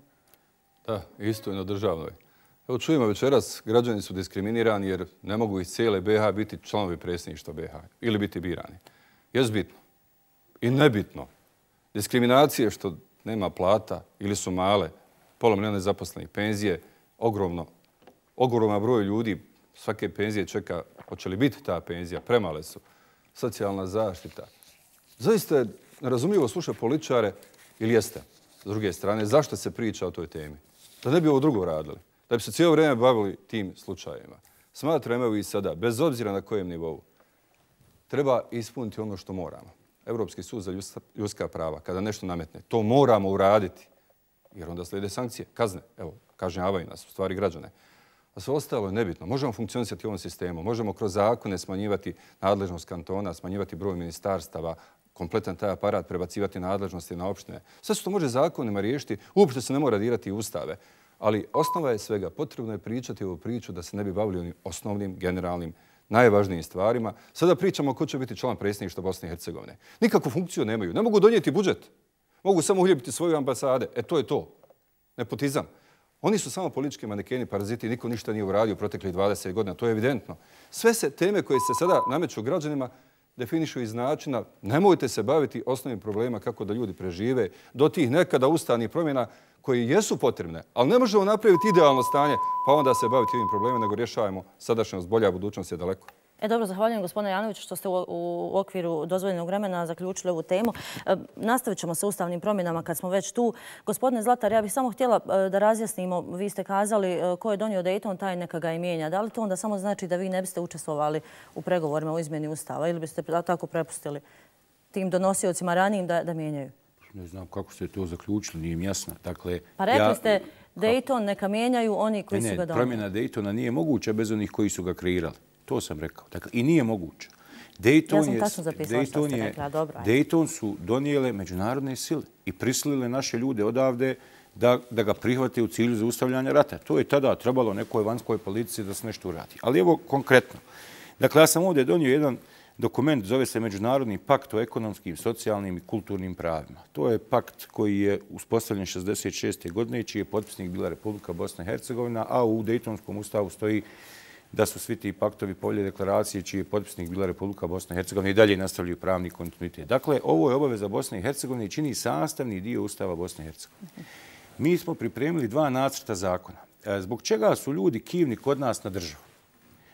Da, isto i na državnoj. Evo čujemo večeras, građani su diskriminirani jer ne mogu iz cijele BiH biti članovi predsjedništva BiH ili biti birani. Jest bitno i nebitno. Diskriminacije što nema plata ili su male, pola milijuna nezaposlenih, penzije, ogroman broj ljudi svake penzije čeka hoće li biti ta penzija, premale su, socijalna zaštita. Zaista je nerazumljivo slušati političare ili jeste, s druge strane, zašto se priča o toj temi? Da ne bi ovo drugo radili, da bi se cijelo vrijeme bavili tim slučajevima. Smatram evo i sada, bez obzira na kojem nivou, treba ispuniti ono što moramo. Evropski sud za ljudska prava, kada nešto nametne, to moramo uraditi. Jer onda slijede sankcije, kazne. Evo, kažnjavaju nas, u stvari građane. A sve ostalo je nebitno. Možemo funkcionisati u ovom sistemu. Možemo kroz zakone smanjivati nadležnost kantona, smanjivati broj ministarstava, kompletan taj aparat prebacivati nadležnosti na opštine. Sve što može zakonima riješiti, uopšte se ne mora dirati ustave. Ali osnova je svega. Potrebno je pričati ovu priču da se ne bi bavili onim osnovnim, generalnim, najvažnijim stvarima. Sada pričamo ko će biti član predsjedništva Bosne i Hercegovine. Nikakvu funkciju nemaju. Ne mogu donijeti budžet. Mogu samo uhljebiti svoje ambasade. To je to. Nepotizam. Oni su samo politički manekeni, paraziti. Niko ništa nije uradio proteklih 20 godina. To je evidentno. Sve se teme koje se sada nameću građanima definišu iz načina nemojte se baviti osnovnim problema kako da ljudi prežive do tih nekada ustavnih promjena koji jesu potrebne, ali ne možemo napraviti idealno stanje pa onda se baviti ovim problemima, nego rješavamo sadašnjost, bolja budućnost je daleko. Dobro, zahvaljujem gospodine Janoviću što ste u okviru dozvoljenog vremena zaključili ovu temu. Nastavit ćemo sa ustavnim promjenama kad smo već tu. Gospodine Zlatar, ja bih samo htjela da razjasnimo, vi ste kazali ko je donio Dayton, taj neka ga i mijenja. Da li to onda samo znači da vi ne biste učestvovali u pregovorima o izmjeni ustava ili biste tako prepustili tim donosiocima ranijim da mijenjaju? Ne znam kako ste to zaključili, nije im jasno. Pa rekli ste Dayton neka mijenjaju oni koji su ga donijeli. Promjena Daytona nije moguća bez onih koji su ga kreirali. To sam rekao. Dakle, i nije moguće. Dayton su donijele međunarodne sile i prisilile naše ljude odavde da ga prihvate u cilju zaustavljanja rata. To je tada trebalo nekoj vanjskoj politici da se nešto uradi. Ali evo konkretno. Dakle, ja sam ovdje donio jedan dokument, zove se Međunarodni pakt o ekonomskim, socijalnim i kulturnim pravima. To je pakt koji je uspostavljen 1966. godine i čiji je potpisnik bila Republika Bosna i Hercegovina, a u Daytonskom ustavu stoji da su svi ti paktovi, povelje, deklaracije čiji je potpisnik bila Republika Bosna i Hercegovina i dalje nastavljaju pravni kontinuitet. Dakle, ovo je obaveza Bosne i Hercegovine i čini sastavni dio Ustava Bosne i Hercegovine. Mi smo pripremili 2 nacrta zakona. Zbog čega su ljudi kivni kod nas na državu?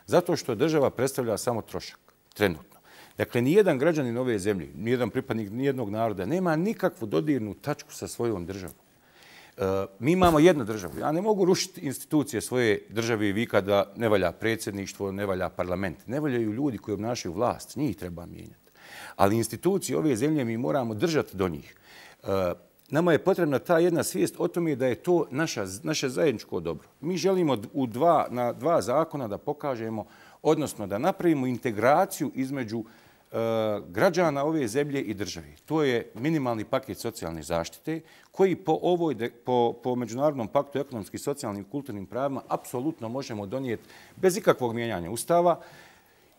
Zato što država predstavlja samo trošak, trenutno. Dakle, nijedan građanin ove zemlje, nijedan pripadnik nijednog naroda nema nikakvu dodirnu tačku sa svojom državom. Mi imamo jednu državu. Ja ne mogu rušiti institucije svoje države i vikati da ne valja predsjedništvo, ne valja parlament. Ne valjaju ljudi koji obnašaju vlast. Njih treba mijenjati. Ali institucije ove zemlje mi moramo držati do njih. Nama je potrebna ta jedna svijest o tome da je to naše zajedničko dobro. Mi želimo na 2 zakona da pokažemo, odnosno da napravimo integraciju između građana ove zemlje i države. To je minimalni paket socijalne zaštite koji po Međunarodnom paktu o ekonomskim, socijalnim i kulturnim pravima apsolutno možemo donijeti bez ikakvog mijenjanja ustava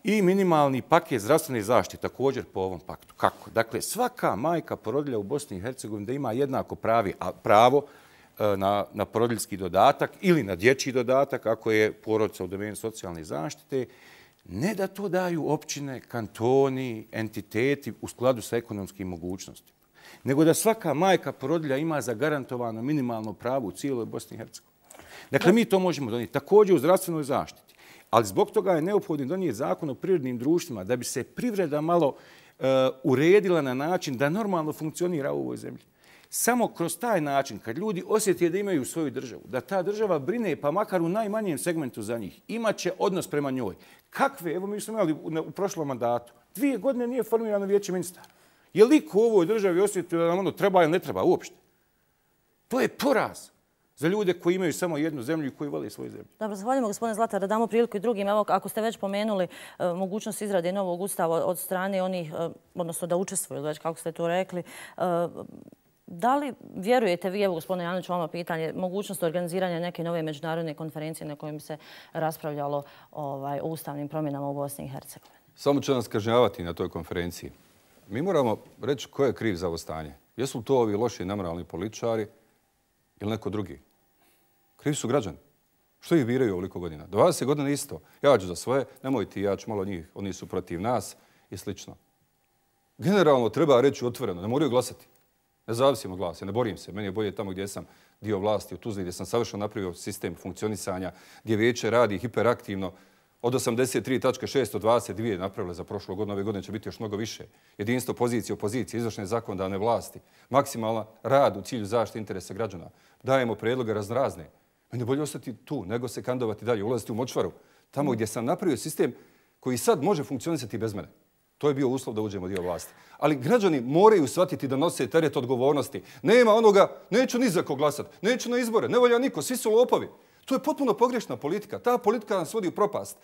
i minimalni paket zdravstvene zaštite također po ovom paktu. Kako? Dakle, svaka majka porodilja u Bosni i Hercegovini da ima jednako pravo na porodiljski dodatak ili na dječji dodatak ako je porodica u domenu socijalne zaštite, Ne da to daju općine, kantoni, entiteti u skladu sa ekonomskim mogućnostima, nego da svaka majka porodilja ima zagarantovano minimalno pravo u cijeloj Bosni i Hercegovini. Dakle, mi to možemo donijeti. Također u zdravstvenoj zaštiti. Ali zbog toga je neophodno donijeti zakon o privrednim društvima da bi se privreda malo uredila na način da normalno funkcionira u ovoj zemlji. Samo kroz taj način, kad ljudi osjeti da imaju svoju državu, da ta država brine, pa makar u najmanjem segmentu za njih, imaće odnos prema njoj. Kakve? Evo mi smo imali u prošlom mandatu. 2 godine nije formirano vijeće ministara. Je li ko u ovoj državi osjetio da nam ono treba ili ne treba uopšte? To je poraz za ljude koji imaju samo jednu zemlju i koji vole svoju zemlju. Dobro, zahvaljujemo gospodine Zlatar, da damo priliku i drugim. Evo, ako ste već pomenuli mogućnost izrade novog ustava od strane onih, odnosno da učestvuju, već kako ste to rekli, da li vjerujete vi, evo gospodine Janović, vama pitanje, mogućnost organiziranja neke nove međunarodne konferencije na kojoj bi se raspravljalo o ustavnim promjenama u Bosni i Hercegovini? Samo će nas kažnjavati na toj konferenciji. Mi moramo reći ko je kriv za ovo stanje. Jesu li to ovi loši nemoralni političari ili neko drugi? Krivi su građani. Što ih biraju ovoliko godina? 20 godina isto. Ja ću za svoje, nemoj ti, ja ću malo njih, oni su protiv nas i slično. Generalno treba reći otvoreno, ne moraju glasati. Ne zavisimo glasa, ne borim se. Meni je bolje tamo gdje sam dio vlasti u Tuzli, gdje sam savršeno napravio sistem funkcionisanja, gdje vijeće radi hiperaktivno. Od 83.622 napravile za prošlu godinu, ove godine će biti još mnogo više. Jedinstvo pozicije, opozicije, izvršne zakonodavne vlasti, maksimalan rad u cilju zaštite interesa građana. Dajemo predloge raznorazne. Meni je bolje ostati tu, nego se kandidovati dalje, ulaziti u močvaru. Tamo gdje sam napravio sistem koji sad može funkcionisati bez mene. To je bio uslov da uđemo dio vlasti. Ali građani moraju shvatiti da nose teret odgovornosti. Nema onoga, neću ni za ko glasati, neću na izbore, ne volja niko, svi su lopovi. To je potpuno pogrešna politika. Ta politika nas vodi u propast.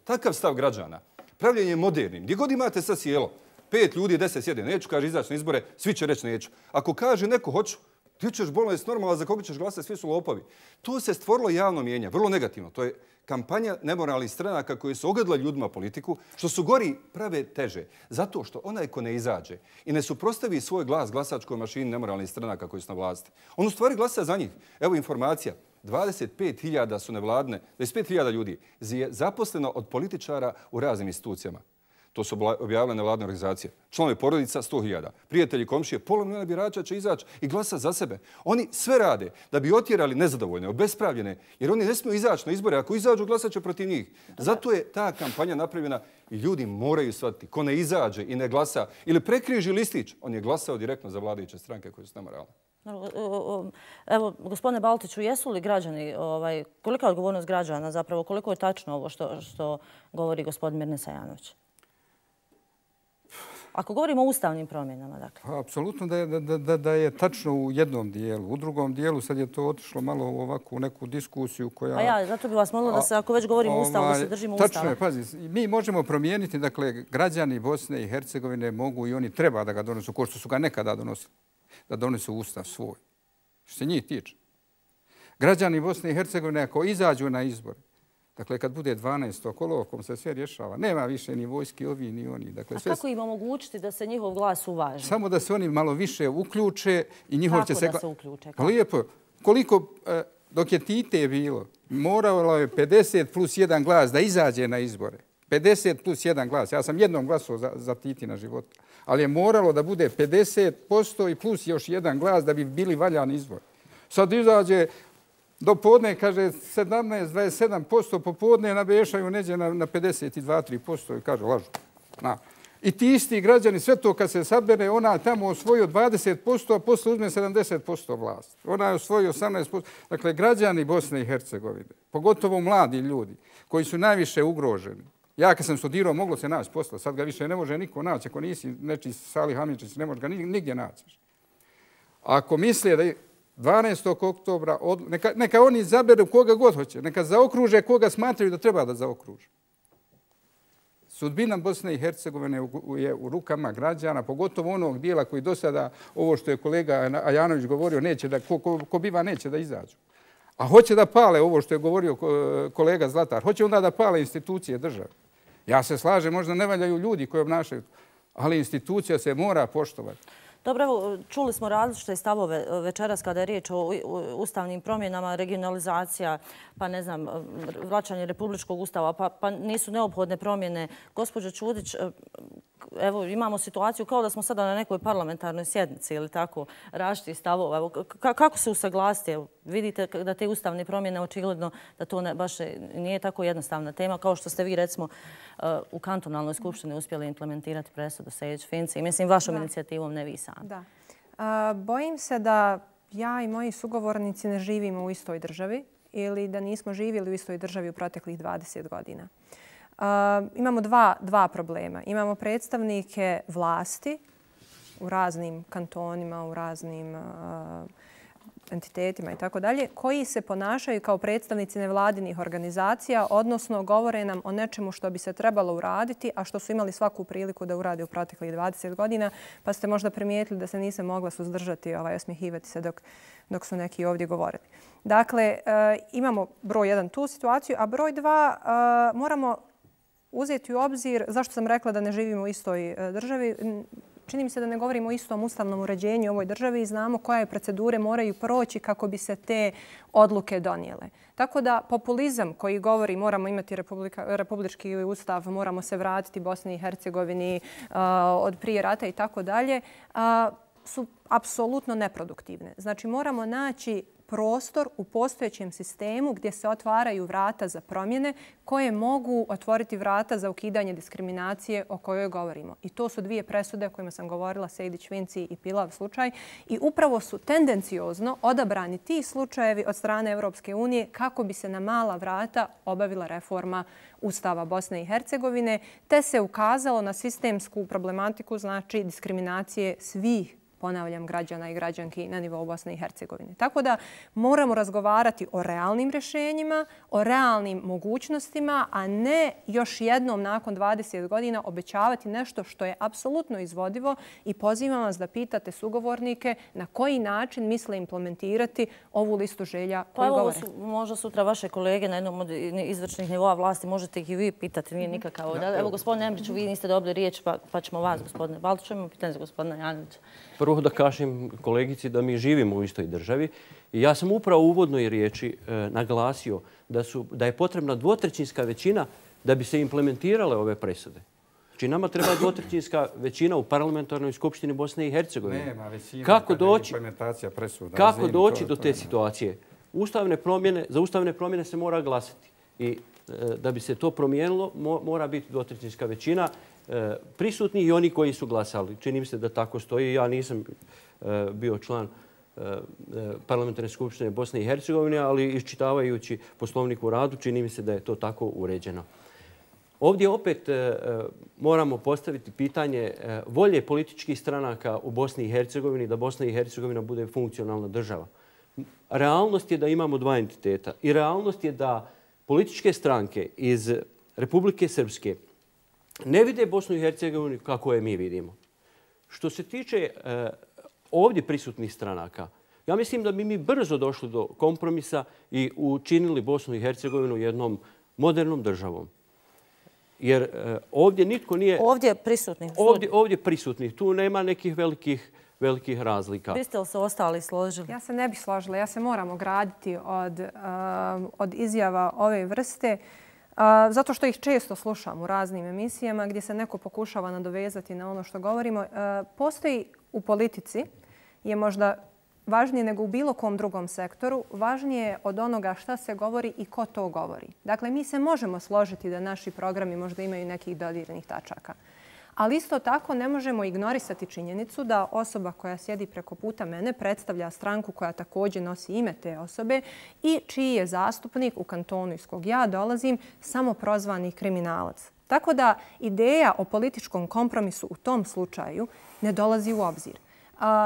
Takav stav građana, pravljenje modernim. Gdje god imate sad sjelo, 5 ljudi, 10 sjede, neću, kaže, izaći na izbore, svi će reći neću. Ako kaže neko hoću, ti ćeš bolno jest normalno, za koga ćeš glasati, svi su lopovi. To se stvorilo javno mijenje, vrlo negativno. To je kampanja nemoralnih stranaka koji su ogledala ljudima politiku, što su gori prave teže. Zato što onaj ko ne izađe i ne suprotstavi svoj glas glasačkoj mašini nemoralnih stranaka koji su na vlasti, on u stvari glasa za njih. Evo informacija. 25.000 su nevladne, 25.000 ljudi je zaposleno od političara u raznim institucijama. To su objavile nevladne organizacije. Članovi porodica 100.000. Prijatelji, komšije, pola milijuna birača će izaći i glasa za sebe. Oni sve rade da bi otjerali nezadovoljne, obespravljene, jer oni ne smiju izaći na izbore. Ako izađu, glasat će protiv njih. Zato je ta kampanja napravljena i ljudi moraju shvatiti. Ko ne izađe i ne glasa ili prekriži listić, on je glasao direktno za vladajuće stranke koje su nemoralne. Evo, gospodine Baltiću, jesu li građani, kolika je odgovornost građana zapravo, koliko je tačno ovo što govori gospodin Mirnesa Janović? Ako govorimo o ustavnim promjenama, dakle. Apsolutno da je tačno u jednom dijelu. U drugom dijelu sad je to otišlo malo ovako u neku diskusiju koja... Pa ja, zato bih vas molila da se, ako već govorimo o ustavu, da se držimo ustava. Tačno je, pazi, mi možemo promijeniti, dakle, građani Bosne i Hercegovine mogu i oni treba da ga donesu, ko što su ga nekada donosili, da donesu ustav svoj. Što se njih tiče. Građani Bosne i Hercegovine, ako izađu na izbor, dakle, kad bude 12. olovkom se sve rješava. Nema više ni vojski ovi, ni oni. Dakle, a kako im omogućiti da se njihov glas uvaži? Samo da se oni malo više uključe i njihov će se... Kako da se uključe? Lijepo. Koliko, dok je Tite bilo, moralo je 50 plus 1 glas da izađe na izbore. 50 plus 1 glas. Ja sam jednom glasao za Titina života. Ali je moralo da bude 50% i plus još 1 glas da bi bili valjani izbori. Sad izađe... Do podne, kaže, 17-27%, popodne nabešaju neđe na 52-3% i kaže, lažu. I ti isti građani, sve to kad se sabere, ona tamo osvojio 20%, a posle uzme 70% vlast. Ona je osvojio 18%. Dakle, građani Bosne i Hercegovine, pogotovo mladi ljudi, koji su najviše ugroženi. Ja kad sam studirao, moglo se naći posla. Sad ga više ne može niko naći. Ako nisi nečiji Salih Hamidžić, ne može ga nigdje naći. Ako misle da 12. oktobra, neka oni izaberu koga god hoće, neka zaokruže koga smatraju da treba da zaokruže. Sudbina Bosne i Hercegovine je u rukama građana, pogotovo onog dijela koji do sada, ovo što je kolega Ajanović govorio, neće da, ko biva neće da izađu. A hoće da pale ovo što je govorio kolega Zlatar, hoće onda da pale institucije države. Ja se slažem, možda ne valjaju ljudi koji obnašaju, ali institucija se mora poštovati. Dobro, evo, čuli smo različite stavove večeras kada je riječ o ustavnim promjenama, regionalizacija, pa ne znam, vraćanje Republičkog ustava, pa nisu neophodne promjene. Gospođo Čudić, evo, imamo situaciju kao da smo sada na nekoj parlamentarnoj sjednici ili tako, različitih stavova. Evo, kako se usaglasiti? Vidite da te ustavne promjene, očigledno da to baš nije tako jednostavna tema, kao što ste vi, recimo, u kantonalnoj skupštini uspjeli implementirati presudu Sejdić-Finci. Mislim, vašom inicijativom, ne vi sami. Da. Bojim se da ja i moji sugovornici ne živimo u istoj državi ili da nismo živjeli u istoj državi u proteklih 20 godina. Imamo dva problema. Imamo predstavnike vlasti u raznim kantonima, u raznim entitetima i tako dalje, koji se ponašaju kao predstavnici nevladinih organizacija, odnosno govore nam o nečemu što bi se trebalo uraditi, a što su imali svaku priliku da urade u proteklih 20 godina, pa ste možda primijetili da se nisam mogla suzdržati osmjehivati se dok su neki ovdje govorili. Dakle, imamo broj jedan tu situaciju, a broj dva moramo uzeti u obzir, zašto sam rekla da ne živimo u istoj državi, čini mi se da ne govorimo o istom ustavnom uređenju u ovoj državi i znamo koje procedure moraju proći kako bi se te odluke donijele. Tako da populizam koji govori moramo imati republički ustav, moramo se vratiti Bosni i Hercegovini od prije rata i tako dalje, su apsolutno neproduktivne. Znači moramo naći prostor u postojećem sistemu gdje se otvaraju vrata za promjene koje mogu otvoriti vrata za ukidanje diskriminacije o kojoj govorimo. I to su dvije presude o kojima sam govorila, Sejdić-Finci i Pilav slučaj. I upravo su tendenciozno odabrani ti slučajevi od strane Europske unije kako bi se na mala vrata obavila reforma Ustava Bosne i Hercegovine, te se ukazalo na sistemsku problematiku, znači diskriminacije svih, ponavljam, građana i građanki na nivou Bosne i Hercegovine. Tako da moramo razgovarati o realnim rješenjima, o realnim mogućnostima, a ne još jednom nakon 20 godina obećavati nešto što je apsolutno izvodivo i pozivam vas da pitate sugovornike na koji način misle implementirati ovu listu želja koju govore. Pa evo, možda sutra vaše kolege na jednom od izvršnih nivoa vlasti, možete ih i vi pitati, nije nikakav. Evo, gospodine Emriću, vi niste dobili riječ, pa ćemo vas, gospodine Baltiću, imamo pitanje za gospodina Janovića. Prvo da kažem kolegici da mi živimo u istoj državi. I ja sam upravo u uvodnoj riječi naglasio da je potrebna dvotrećinska većina da bi se implementirale ove presude. Znači nama treba dvotrećinska većina u parlamentarnoj skupštini Bosne i Hercegovine. Nema većina kada je implementacija presuda. Kako doći do te situacije? Za ustavne promjene se mora glasati. I da bi se to promijenilo, mora biti dvotrećinska većina prisutni i oni koji su glasali. Čini mi se da tako stoji. Ja nisam bio član parlamentarne skupštine Bosne i Hercegovine, ali iščitavajući poslovnik u radu, čini mi se da je to tako uređeno. Ovdje opet moramo postaviti pitanje volje političkih stranaka u Bosni i Hercegovini da Bosna i Hercegovina bude funkcionalna država. Realnost je da imamo dva entiteta i realnost je da političke stranke iz Republike Srpske ne vide Bosnu i Hercegovinu kako je mi vidimo. Što se tiče ovdje prisutnih stranaka, ja mislim da bi mi brzo došli do kompromisa i učinili Bosnu i Hercegovinu jednom modernom državom. Jer ovdje nitko nije... Ovdje prisutnih? Ovdje prisutnih. Tu nema nekih velikih razlika. Biste li se ostali složili? Ja se ne bih složila. Ja se moram ograditi od izjava ove vrste. Zato što ih često slušam u raznim emisijama gdje se neko pokušava nadovezati na ono što govorimo. Postoji u politici, je možda važnije nego u bilo kom drugom sektoru, važnije od onoga šta se govori i ko to govori. Dakle, mi se možemo složiti da naši programi možda imaju nekih dodirnih tačaka. Ali isto tako ne možemo ignorisati činjenicu da osoba koja sjedi preko puta mene predstavlja stranku koja također nosi ime te osobe i čiji je zastupnik u kantonu iz kog ja dolazim samoprozvani kriminalac. Tako da ideja o političkom kompromisu u tom slučaju ne dolazi u obzir.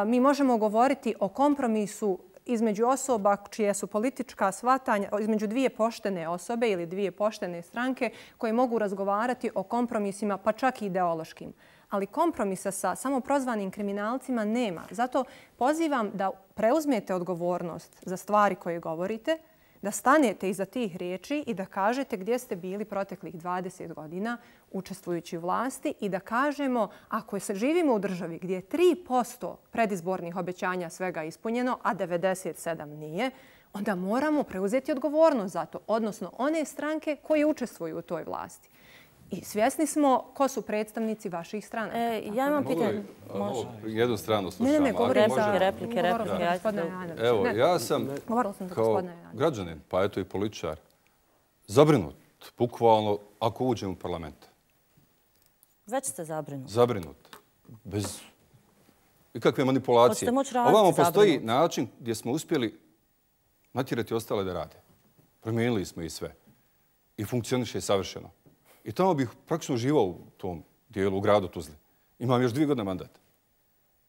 Mi možemo govoriti o kompromisu između osoba čije su politička shvatanja, između dvije poštene osobe ili dvije poštene stranke koje mogu razgovarati o kompromisima, pa čak i ideološkim. Ali kompromisa sa samoprozvanim kriminalcima nema. Zato pozivam da preuzmete odgovornost za stvari koje govorite, da stanete iza tih riječi i da kažete gdje ste bili proteklih 20 godina učestvujući u vlasti i da kažemo ako se živimo u državi gdje je 3% predizbornih obećanja svega ispunjeno, a 97 nije, onda moramo preuzeti odgovornost za to, odnosno one stranke koje učestvuju u toj vlasti. I svjesni smo ko su predstavnici vaših stranaka. Ja imam pitanje. Jednu stranu slušamo. Ne, replike. Evo, ja sam kao građanin, pa eto i političar, zabrinut, bukvalno, ako uđem u parlament. Već ste zabrinut. Zabrinut. Bez ikakve manipulacije. Ovamo postoji način gdje smo uspjeli natjerati ostale da rade. Promijenili smo i sve. I funkcioniše savršeno. I tamo bih praktično živao u tom dijelu, u gradu Tuzli. Imam još 2 godine mandat.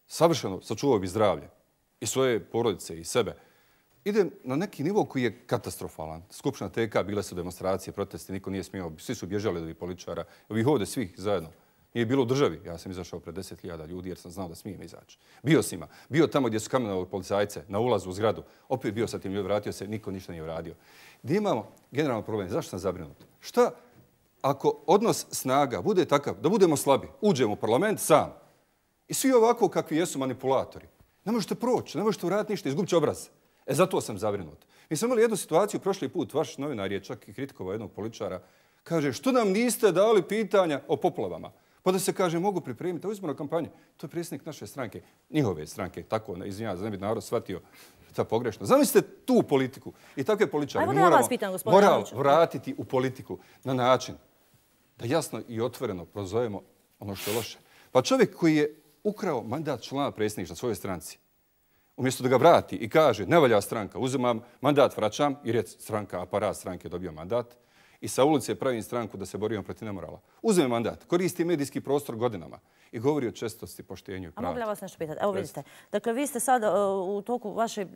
Savršeno sačuvao bi zdravlje. I svoje porodice, i sebe. Idem na neki nivo koji je katastrofalan. Skupština TK, bile su demonstracije, protesti, niko nije smio. Svi su bježali od ovih političara. Ovih ovdje svih zajedno. Nije bilo u državi. Ja sam izašao pred 10.000 ljudi jer sam znao da smijem izaći. Bio s njima. Bio tamo gdje su kamenovali policajce na ulazu u zgradu. Opet bio sa tim ljudi, vratio se, niko ništa nije uradio. Gdje imamo generalno problem? Zašto sam zabrinut? Šta ako odnos snaga bude takav da budemo slabi, uđemo u parlament sam i svi ovako kakvi jesu manipulatori, ne možete proći, ne možete uraditi ništa, izgubit će obraz. Zato sam zabrinut. Mi smo imali jednu situaciju prošli put, vaš novinar je čak i kritikovao jednog političara, kaže što nam niste dali pitanja o poplavama? Pa da se kaže mogu pripremiti, ovo izborna kampanja. To je predsjednik naše stranke, njihove stranke, tako, izvinjava, da ne bi narod shvatio ta pogrešno. Zamislite tu politiku i takve političare. Mi moramo vratiti u politiku na način da jasno i otvoreno prozovemo ono što je loše. Pa čovjek koji je ukrao mandat člana predsjedništva svojoj stranci, umjesto da ga vrati i kaže ne valja stranka, uzimam mandat, vraćam, jer je stranka, aparat stranke dobio mandat, i sa ulice pravim stranku da se borimo protiv nemorala. Uzme mandat, koristi medijski prostor godinama i govori o čestosti, poštenju i pravu. A mogu li vas nešto pitati? Evo vidite. Dakle, vi ste sad u toku vaše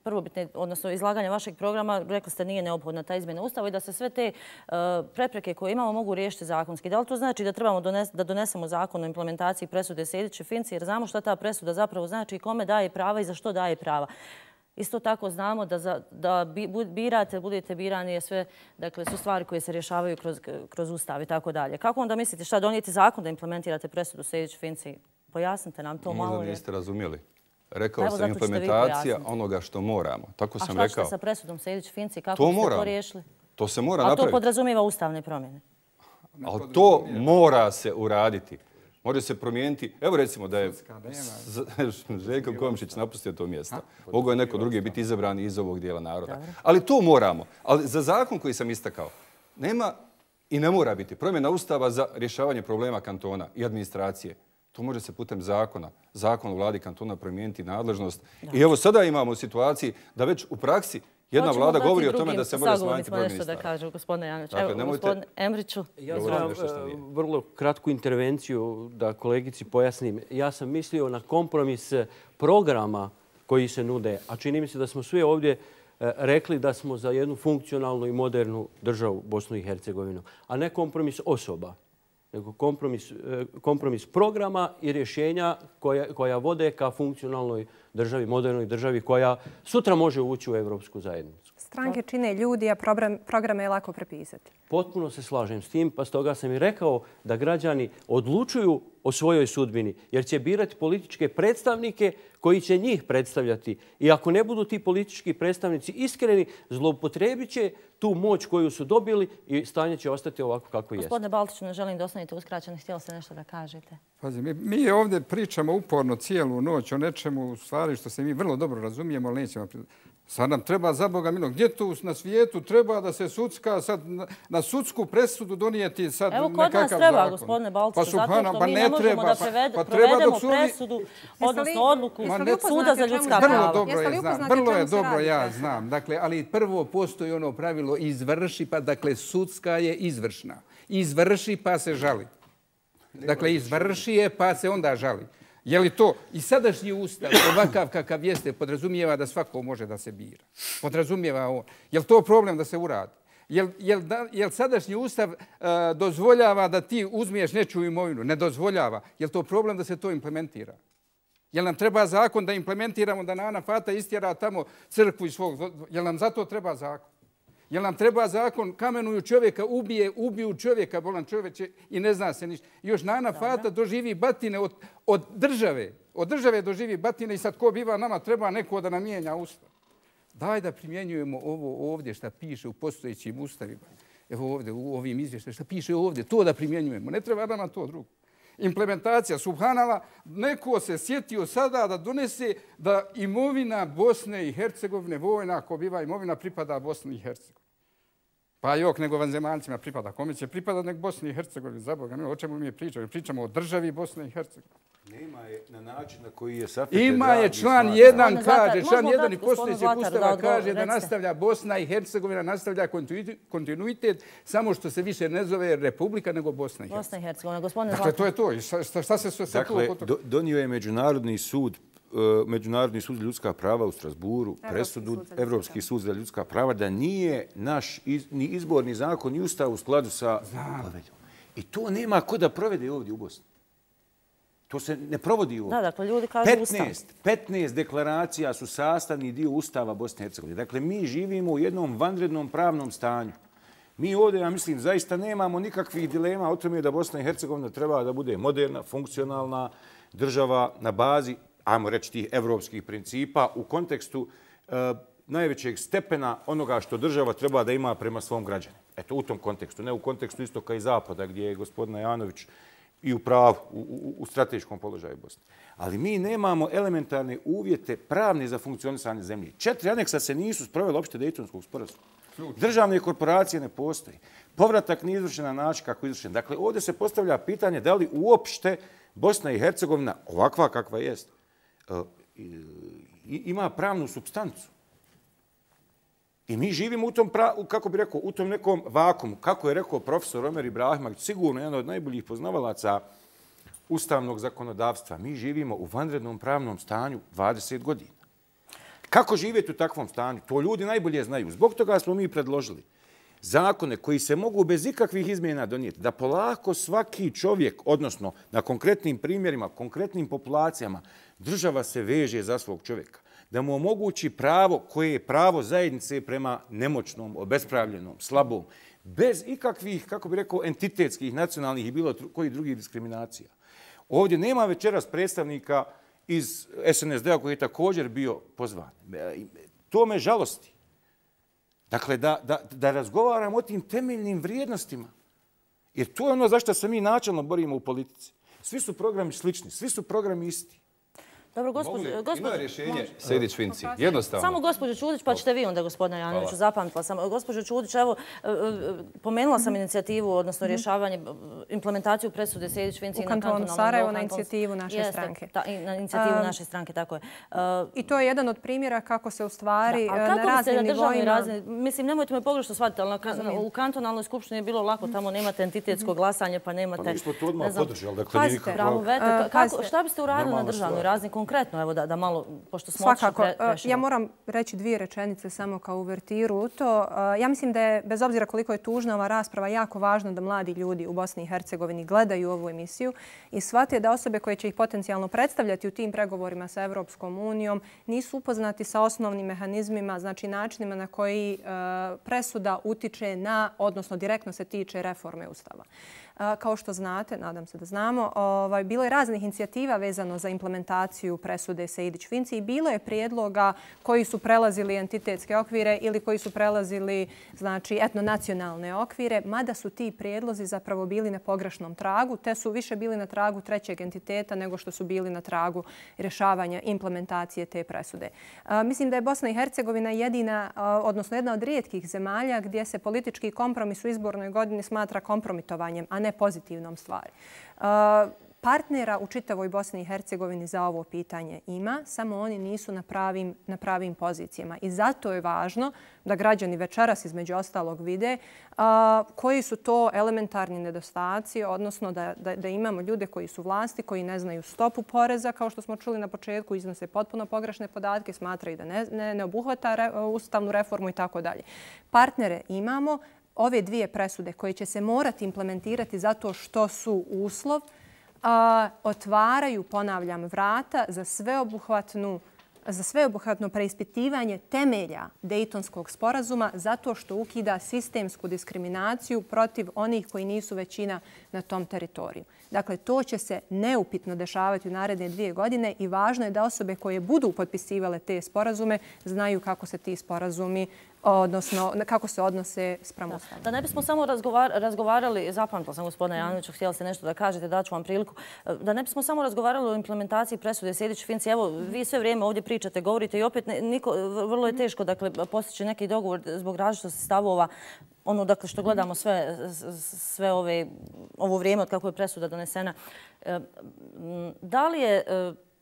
prvobitne, odnosno izlaganja vašeg programa, rekli ste nije neophodna ta izmjena Ustava i da se sve te prepreke koje imamo mogu riješiti zakonski. Da li to znači da trebamo da donesemo zakon o implementaciji presude Sejdić-Finci jer znamo šta ta presuda zapravo znači i kome daje prava i za što daje prava? Isto tako znamo da birate, budete birani je sve, dakle, su stvari koje se rješavaju kroz Ustav i tako dalje. Kako onda mislite šta donijeti zakon da implementirate presudu Sejdić-Finci? Pojasnite nam to malo. Možda niste razumjeli. Rekao sam implementacija onoga što moramo. Tako sam rekao. A šta ćete sa presudom Sejdić-Finci? Kako ste to riješili? To se mora napraviti. A to podrazumijeva ustavne promjene? Ali to mora se uraditi. Može se promijeniti. Evo recimo da je Željko Komšić napustio to mjesto. Mogu je neko drugi biti izabran iz ovog dijela naroda. Ali to moramo. Ali za zakon koji sam istakao, nema i ne mora biti promjena Ustava za rješavanje problema kantona i administracije. To može se putem zakona, zakon o vladi kantona promijeniti nadležnost. I evo sada imamo u situaciji da već u praksi jedna vlada govori o tome da se može smanjiti broj ministara. Da kažu, gospodine Janović. Evo, gospodine Emriću. Ja znam vrlo kratku intervenciju da kolegici pojasnim. Ja sam mislio na kompromis programa koji se nude, a čini mi se da smo svi ovdje rekli da smo za jednu funkcionalnu i modernu državu Bosnu i Hercegovinu, a ne kompromis osoba, nego kompromis programa i rješenja koja vode ka funkcionalnoj državi, modernoj državi koja sutra može ući u Evropsku zajednicu. Stranke čine ljudi, a programe je lako prepisati. Potpuno se slažem s tim, pa stoga sam i rekao da građani odlučuju o svojoj sudbini, jer će birati političke predstavnike koji će njih predstavljati. I ako ne budu ti politički predstavnici iskreni, zloupotrebit će tu moć koju su dobili i stanje će ostati ovako kako jeste. Gospodine Baltiću, ne želim da ostanete uskraćeni. Htjeli ste nešto da kažete? Pazi, mi ovdje pričamo uporno cijelu noć o nečemu, u stvari što se mi vrlo dobro razumijemo, ali nećemo. Sad nam treba, za Boga milog, gdje tu na svijetu treba da se sudska, sad na sudsku presudu donijeti sad nekakav zakon? Evo, kod nas treba, gospodine Baltiću, zato što mi ne možemo da provedemo presudu, odnosno odluku Suda za ljudska prava. Vrlo je dobro, ja znam. Dakle, ali prvo postoji ono pravilo izvrši, pa dakle sudska je izvršna. Izvrši pa se žali. Dakle, izvrši je pa se onda žali. Je li to i sadašnji ustav ovakav kakav jeste podrazumijeva da svako može da se bira? Podrazumijeva on. Je li to problem da se uradi? Je li sadašnji ustav dozvoljava da ti uzmiješ nečiju imovinu? Ne dozvoljava. Je li to problem da se to implementira? Je li nam treba zakon da implementiramo da Nana Fata istjera tamo crkvu iz svog... Je li nam zato treba zakon? Jel nam treba zakon, kamenuju čovjeka, ubiju čovjeka, bolan čovječe i ne zna se ništa. Još Nana Fata doživi batine od države. Od države doživi batine i sad ko biva nama, treba neko da nam mijenja ustav. Daj da primjenjujemo ovo ovdje što piše u postojećim ustavima. Evo ovdje u ovim izvještajima što piše ovdje, to da primjenjujemo. Ne treba nama to drugo. Implementacija, subhanala, neko se sjetio sada da donese da imovina Bosne i Hercegovine, vojna ako biva imovina, pripada Bosni i Hercegovini. Pa jok, nego vanzemaljcima pripada. Kome će pripada nek Bosni i Hercegovini, za Boga. O čemu mi pričamo? Pričamo o državi Bosne i Hercegovine. Nema je na način na koji je Safet. Ima je član 1 kaže, član 1 i postojećeg ustava kaže da nastavlja Bosna i Hercegovina, nastavlja kontinuitet, samo što se više ne zove Republika, nego Bosna i Hercegovina. Bosna i Hercegovina, gospodine Zlatar. Dakle, to je to. Šta se sve dakle, donio je Međunarodni sud za ljudska prava u Strasburu, presudu Evropski sud za ljudska prava, da nije naš ni izborni zakon ni ustav u skladu sa poveljom. I to nema ko da provede ovdje u Bosni. To se ne provodi ovdje. Da, dakle, ljudi kažu ustav. 15 deklaracija su sastavni dio Ustava Bosne i Hercegovine. Dakle, mi živimo u jednom vanrednom pravnom stanju. Mi ovdje, ja mislim, zaista nemamo nikakvih dilema o tome da Bosna i Hercegovina treba da bude moderna, funkcionalna država na bazi, ajmo reći, tih evropskih principa u kontekstu najvećeg stepena onoga što država treba da ima prema svom građanu. Eto, u tom kontekstu, ne u kontekstu istoka i zapada, gdje je gospodin Janović i u pravu, u strateškom položaju Bosne. Ali mi nemamo elementarne uvjete pravne za funkcionisanje zemlje. 4 aneksa se nisu sproveli uopšte Dejtonskog sporazuma. Državne korporacije ne postoji. Povratak nije izvršen na način kako je izvršen. Dakle, ovdje se postavlja pitanje da li uopšte Bosna i Hercegovina, ovakva kakva jest, ima pravnu supstancu. I mi živimo u tom, kako bi rekao, u tom nekom vakumu. Kako je rekao profesor Omer Ibrahimović, sigurno jedan od najboljih poznavalaca ustavnog zakonodavstva. Mi živimo u vanrednom pravnom stanju 20 godina. Kako živjeti u takvom stanju? To ljudi najbolje znaju. Zbog toga smo mi predložili zakone koji se mogu bez ikakvih izmjena donijeti, da polako svaki čovjek, odnosno na konkretnim primjerima, konkretnim populacijama, država se veže za svog čovjeka. Da mu omogući pravo koje je pravo zajednice prema nemoćnom, obespravljenom, slabom, bez ikakvih, kako bi rekao, entitetskih, nacionalnih i bilo kojih drugih diskriminacija. Ovdje nema večeras predstavnika iz SNSD-a koji je također bio pozvan. To me žalosti. Dakle, da razgovaramo o tim temeljnim vrijednostima. Jer to je ono zašto se mi načelno borimo u politici. Svi su programi slični, svi su programi isti. Dobro, gospođo... Ima rješenje Sejdić-Finci. Jednostavno. Samo gospođo Čudić, pa ćete vi onda, gospodine Janoviću, zapamtila sam. Gospođo Čudić, evo, pomenula sam inicijativu, odnosno rješavanje, implementaciju presude Sejdić-Finci u kantonu Sarajevo na inicijativu naše stranke. Na inicijativu naše stranke, tako je. I to je jedan od primjera kako se u stvari na raznim nivoima... Mislim, nemojte me pogrešno shvatiti, ali u kantonalnoj skupštini je bilo lako, tamo nemate entitetsko glasanje, pa nemate... Pa mi smo to odmah podržali, dakle nije nikakva... Šta biste uradili na državnoj razini? Konkretno, evo da malo, pošto smo odšli prešli. Ja moram reći 2 rečenice samo kao uvertiru u to. Ja mislim da je, bez obzira koliko je tužna ova rasprava, jako važno da mladi ljudi u Bosni i Hercegovini gledaju ovu emisiju i shvate da osobe koje će ih potencijalno predstavljati u tim pregovorima sa Evropskom unijom nisu upoznati sa osnovnim mehanizmima, znači načinima na koji presuda utiče na, odnosno direktno se tiče reforme Ustava. Kao što znate, nadam se da znamo, bilo je raznih inicijativa vezano za implementaciju presude Sejdić-Finci i bilo je prijedloga koji su prelazili entitetske okvire ili koji su prelazili etnonacionalne okvire, mada su ti prijedlozi zapravo bili na pogrešnom tragu, te su više bili na tragu trećeg entiteta nego što su bili na tragu rješavanja implementacije te presude. Mislim da je Bosna i Hercegovina jedina, odnosno jedna od rijetkih zemalja gdje se politički kompromis u izbornoj godini smatra kompromitovanjem, a ne pozitivnom stvari. Partnera u čitavoj Bosni i Hercegovini za ovo pitanje ima, samo oni nisu na pravim pozicijama. I zato je važno da građani večeras između ostalog vide koji su to elementarni nedostaci, odnosno da imamo ljude koji su vlasti, koji ne znaju stopu poreza, kao što smo čuli na početku, iznose potpuno pogrešne podatke, smatraju da ne obuhvata ustavnu reformu i tako dalje. Partnere imamo. Ove 2 presude koje će se morati implementirati zato što su uslov, otvaraju, ponavljam, vrata za sveobuhvatnu za sveobuhvatno preispitivanje temelja Dejtonskog sporazuma zato što ukida sistemsku diskriminaciju protiv onih koji nisu većina na tom teritoriju. Dakle, to će se neupitno dešavati u naredne 2 godine i važno je da osobe koje budu potpisivale te sporazume znaju kako se ti sporazumi, odnosno kako se odnose spram Ustava. Da ne bismo samo razgovarali, zapamtila sam gospodina Janoviću, htjela ste nešto da kažete, daću vam priliku, da ne bismo samo razgovarali o implementaciji presude Sejdić-Finci. Evo, vi sve vrijeme ovdje pričate, govorite i opet vrlo je teško postići neki dogovor zbog različitosti stavova. Ono, dakle, što gledamo sve ovo vrijeme od kako je presuda donesena.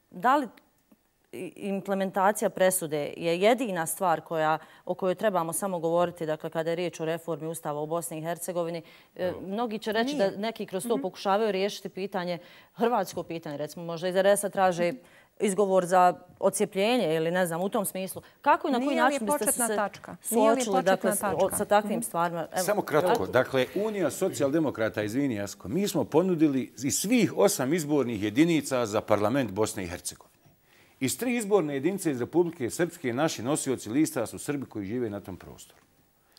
Da li implementacija presude je jedina stvar o kojoj trebamo samo govoriti, dakle, kada je riječ o reformi Ustava u Bosni i Hercegovini? Mnogi će reći da neki kroz to pokušavaju riješiti pitanje, hrvatsko pitanje, recimo, možda iz RS-a traže izgovor za odcijepljenje ili ne znam, u tom smislu. Kako i na koji način biste se suočili sa takvim stvarima? Samo kratko. Dakle, Unija socijaldemokrata, izvini Jasko, mi smo ponudili iz svih 8 izbornih jedinica za parlament Bosne i Hercegovine. Iz 3 izborne jedinice iz Republike Srpske naši nosioci lista su Srbi koji žive na tom prostoru.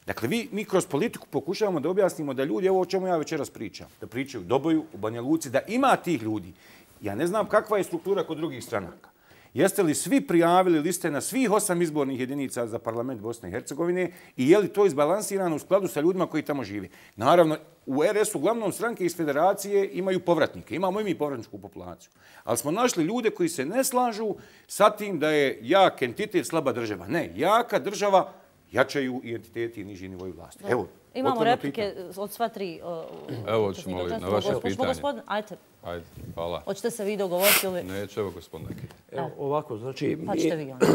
Dakle, mi kroz politiku pokušavamo da objasnimo da ljudi, evo o čemu ja večeras pričam, da pričaju u Doboju, u Banja Luci, da ima tih ljudi. Ja ne znam kakva je struktura kod drugih stranaka. Jeste li svi prijavili liste na svih 8 izbornih jedinica za parlament Bosne i Hercegovine i je li to izbalansirano u skladu sa ljudima koji tamo žive? Naravno, u RS-u uglavnom stranke iz federacije imaju povratnike. Imamo i mi povratničku populaciju. Ali smo našli ljude koji se ne slažu sa tim da je jak entitet slaba država. Ne, jaka država jačaju i entiteti i niži nivoji vlasti. Evo, imamo replike od sva 3. Evo, ćemo li na vaše pitanje? Ajde. Ajde, hvala. Hoćete se vi dogovoriti ili... Neće, evo gospodine. Evo, ovako, znači... Pa ćete vi onda.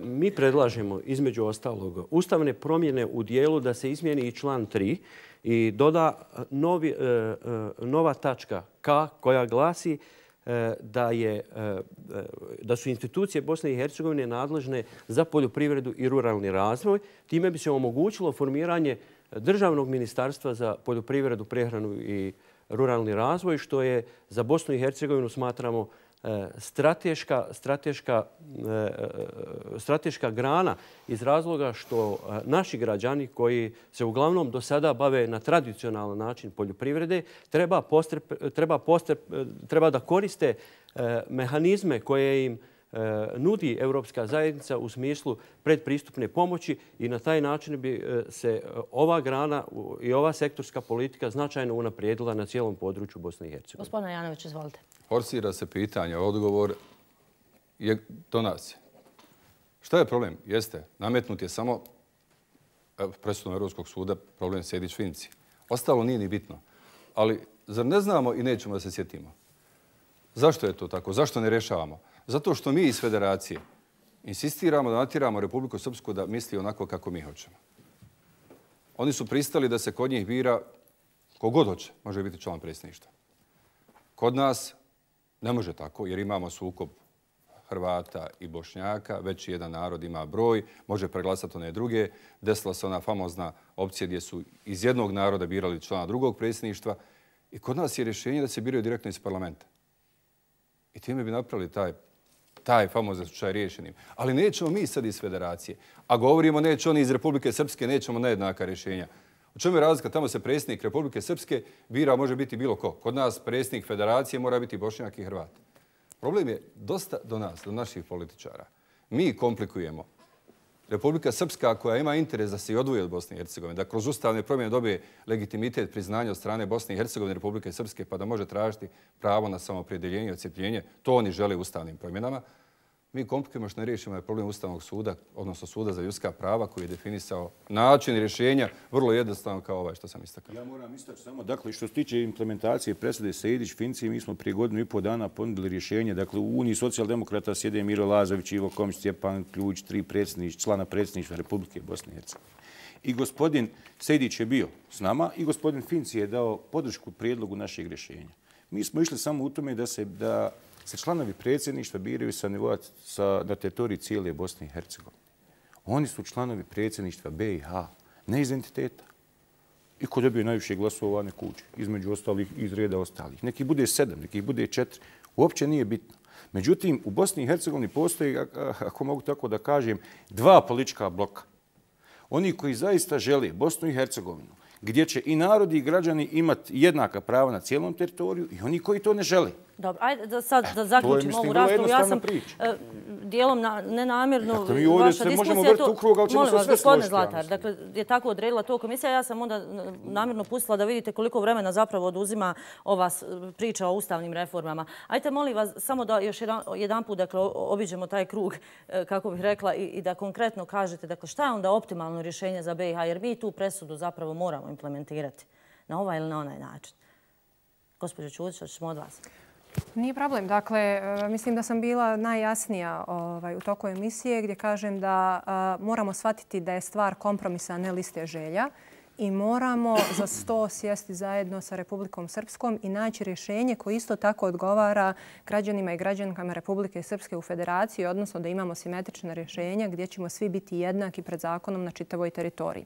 Mi predlažemo, između ostalog, ustavne promjene u dijelu da se izmijeni i član 3 i doda nova tačka K koja glasi da su institucije Bosne i Hercegovine nadležne za poljoprivredu i ruralni razvoj. Time bi se omogućilo formiranje državnog ministarstva za poljoprivredu, prehranu i ruralni razvoj, što je za Bosnu i Hercegovinu, smatramo, strateška grana iz razloga što naši građani koji se uglavnom do sada bave na tradicionalan način poljoprivrede treba da koriste mehanizme koje im nudi Evropska zajednica u smislu predpristupne pomoći i na taj način bi se ova grana i ova sektorska politika značajno unaprijedila na cijelom području Bosne i Hercegovine. Gospodine Janović, izvolite. Forsira se pitanje, odgovor je donacija. Šta je problem? Jeste, nametnut je samo presudom Europskog suda problem Sejdić-Finci. Ostalo nije ni bitno. Ali zar ne znamo i nećemo da se sjetimo? Zašto je to tako? Zašto ne rješavamo? Zato što mi iz federacije insistiramo da natjeramo Republiku Srpsku da misli onako kako mi hoćemo. Oni su pristali da se kod njih bira kogod hoće, može biti član predsjedništva. Kod nas ne može tako jer imamo sukob Hrvata i Bošnjaka, već jedan narod ima broj, može preglasati one druge. Desila se ona famozna opcija gdje su iz jednog naroda birali člana drugog predsjedništva i kod nas je rješenje da se biraju direktno iz parlamenta. I time bi napravili taj famozni slučaj riješenim. Ali nećemo mi sad iz federacije. A govorimo neće oni iz Republike Srpske, nećemo nejednaka rješenja. U čemu je razlika? Tamo se predsjednik Republike Srpske bira, može biti bilo ko. Kod nas predsjednik federacije mora biti Bošnjak i Hrvat. Problem je dosta do nas, do naših političara. Mi komplikujemo. Republika Srpska koja ima interes da se i odvoji od Bosne i Hercegovine, da kroz ustavne promjene dobije legitimitet priznanja od strane Bosne i Hercegovine, Republike Srpske, pa da može tražiti pravo na samoopredjeljenje i odcijepljenje, to oni žele ustavnim promjenama. Mi komplikujemo što ne riješimo je problem Ustavnog suda, odnosno Suda za ljudska prava koji je definisao način rješenja vrlo jednostavno kao ovaj što sam istakao. Ja moram istaći samo, dakle, što se tiče implementacije presude Sejdić-Finci, mi smo prije 1,5 dana ponudili rješenje. Dakle, u Uniji socijaldemokrata sjede Miro Lazović, Ivo Komić, Stjepan Ključ, 3 člana predsjedništva Republike Bosne i Hercegovine. I gospodin Sejdić je bio s nama i gospodin Finci je dao podršku prijedlogu našeg rješenja. Mi smo išli samo u tome da se članovi predsjedništva biraju na teritoriji cijele Bosne i Hercegovine. Oni su članovi predsjedništva BiH, ne iz entiteta. I ko dobije najviše glasova, neko uđe. Između ostalih, iz reda ostalih. Neki bude 7, neki bude 4. Uopće nije bitno. Međutim, u Bosni i Hercegovini postoji, ako mogu tako da kažem, 2 politička bloka. Oni koji zaista žele Bosnu i Hercegovinu, gdje će i narodi i građani imati jednaka prava na cijelom teritoriju i oni koji to ne žele. Dobro, ajde sad da zaključimo ovu raspravu. Ja sam dijelom nenamjerno vaša diskusija to... Molim vas, gospodine Zlatar, dakle, je tako odredila to komisija. Ja sam onda namjerno pustila da vidite koliko vremena zapravo oduzima ova priča o ustavnim reformama. Ajde, molim vas, samo da još jedan put obiđemo taj krug, kako bih rekla, i da konkretno kažete dakle, šta je onda optimalno rješenje za BiH, jer mi tu presudu zapravo moramo implementirati na ovaj ili na onaj način. Gospođo Čudić, hoćemo od vas. Nije problem. Dakle, mislim da sam bila najjasnija u toku emisije gdje kažem da moramo shvatiti da je stvar kompromisa, a ne liste želja. I moramo za sto sjesti zajedno sa Republikom Srpskom i naći rješenje koje isto tako odgovara građanima i građankama Republike Srpske u Federaciji, odnosno da imamo simetrična rješenja gdje ćemo svi biti jednaki pred zakonom na čitavoj teritoriji.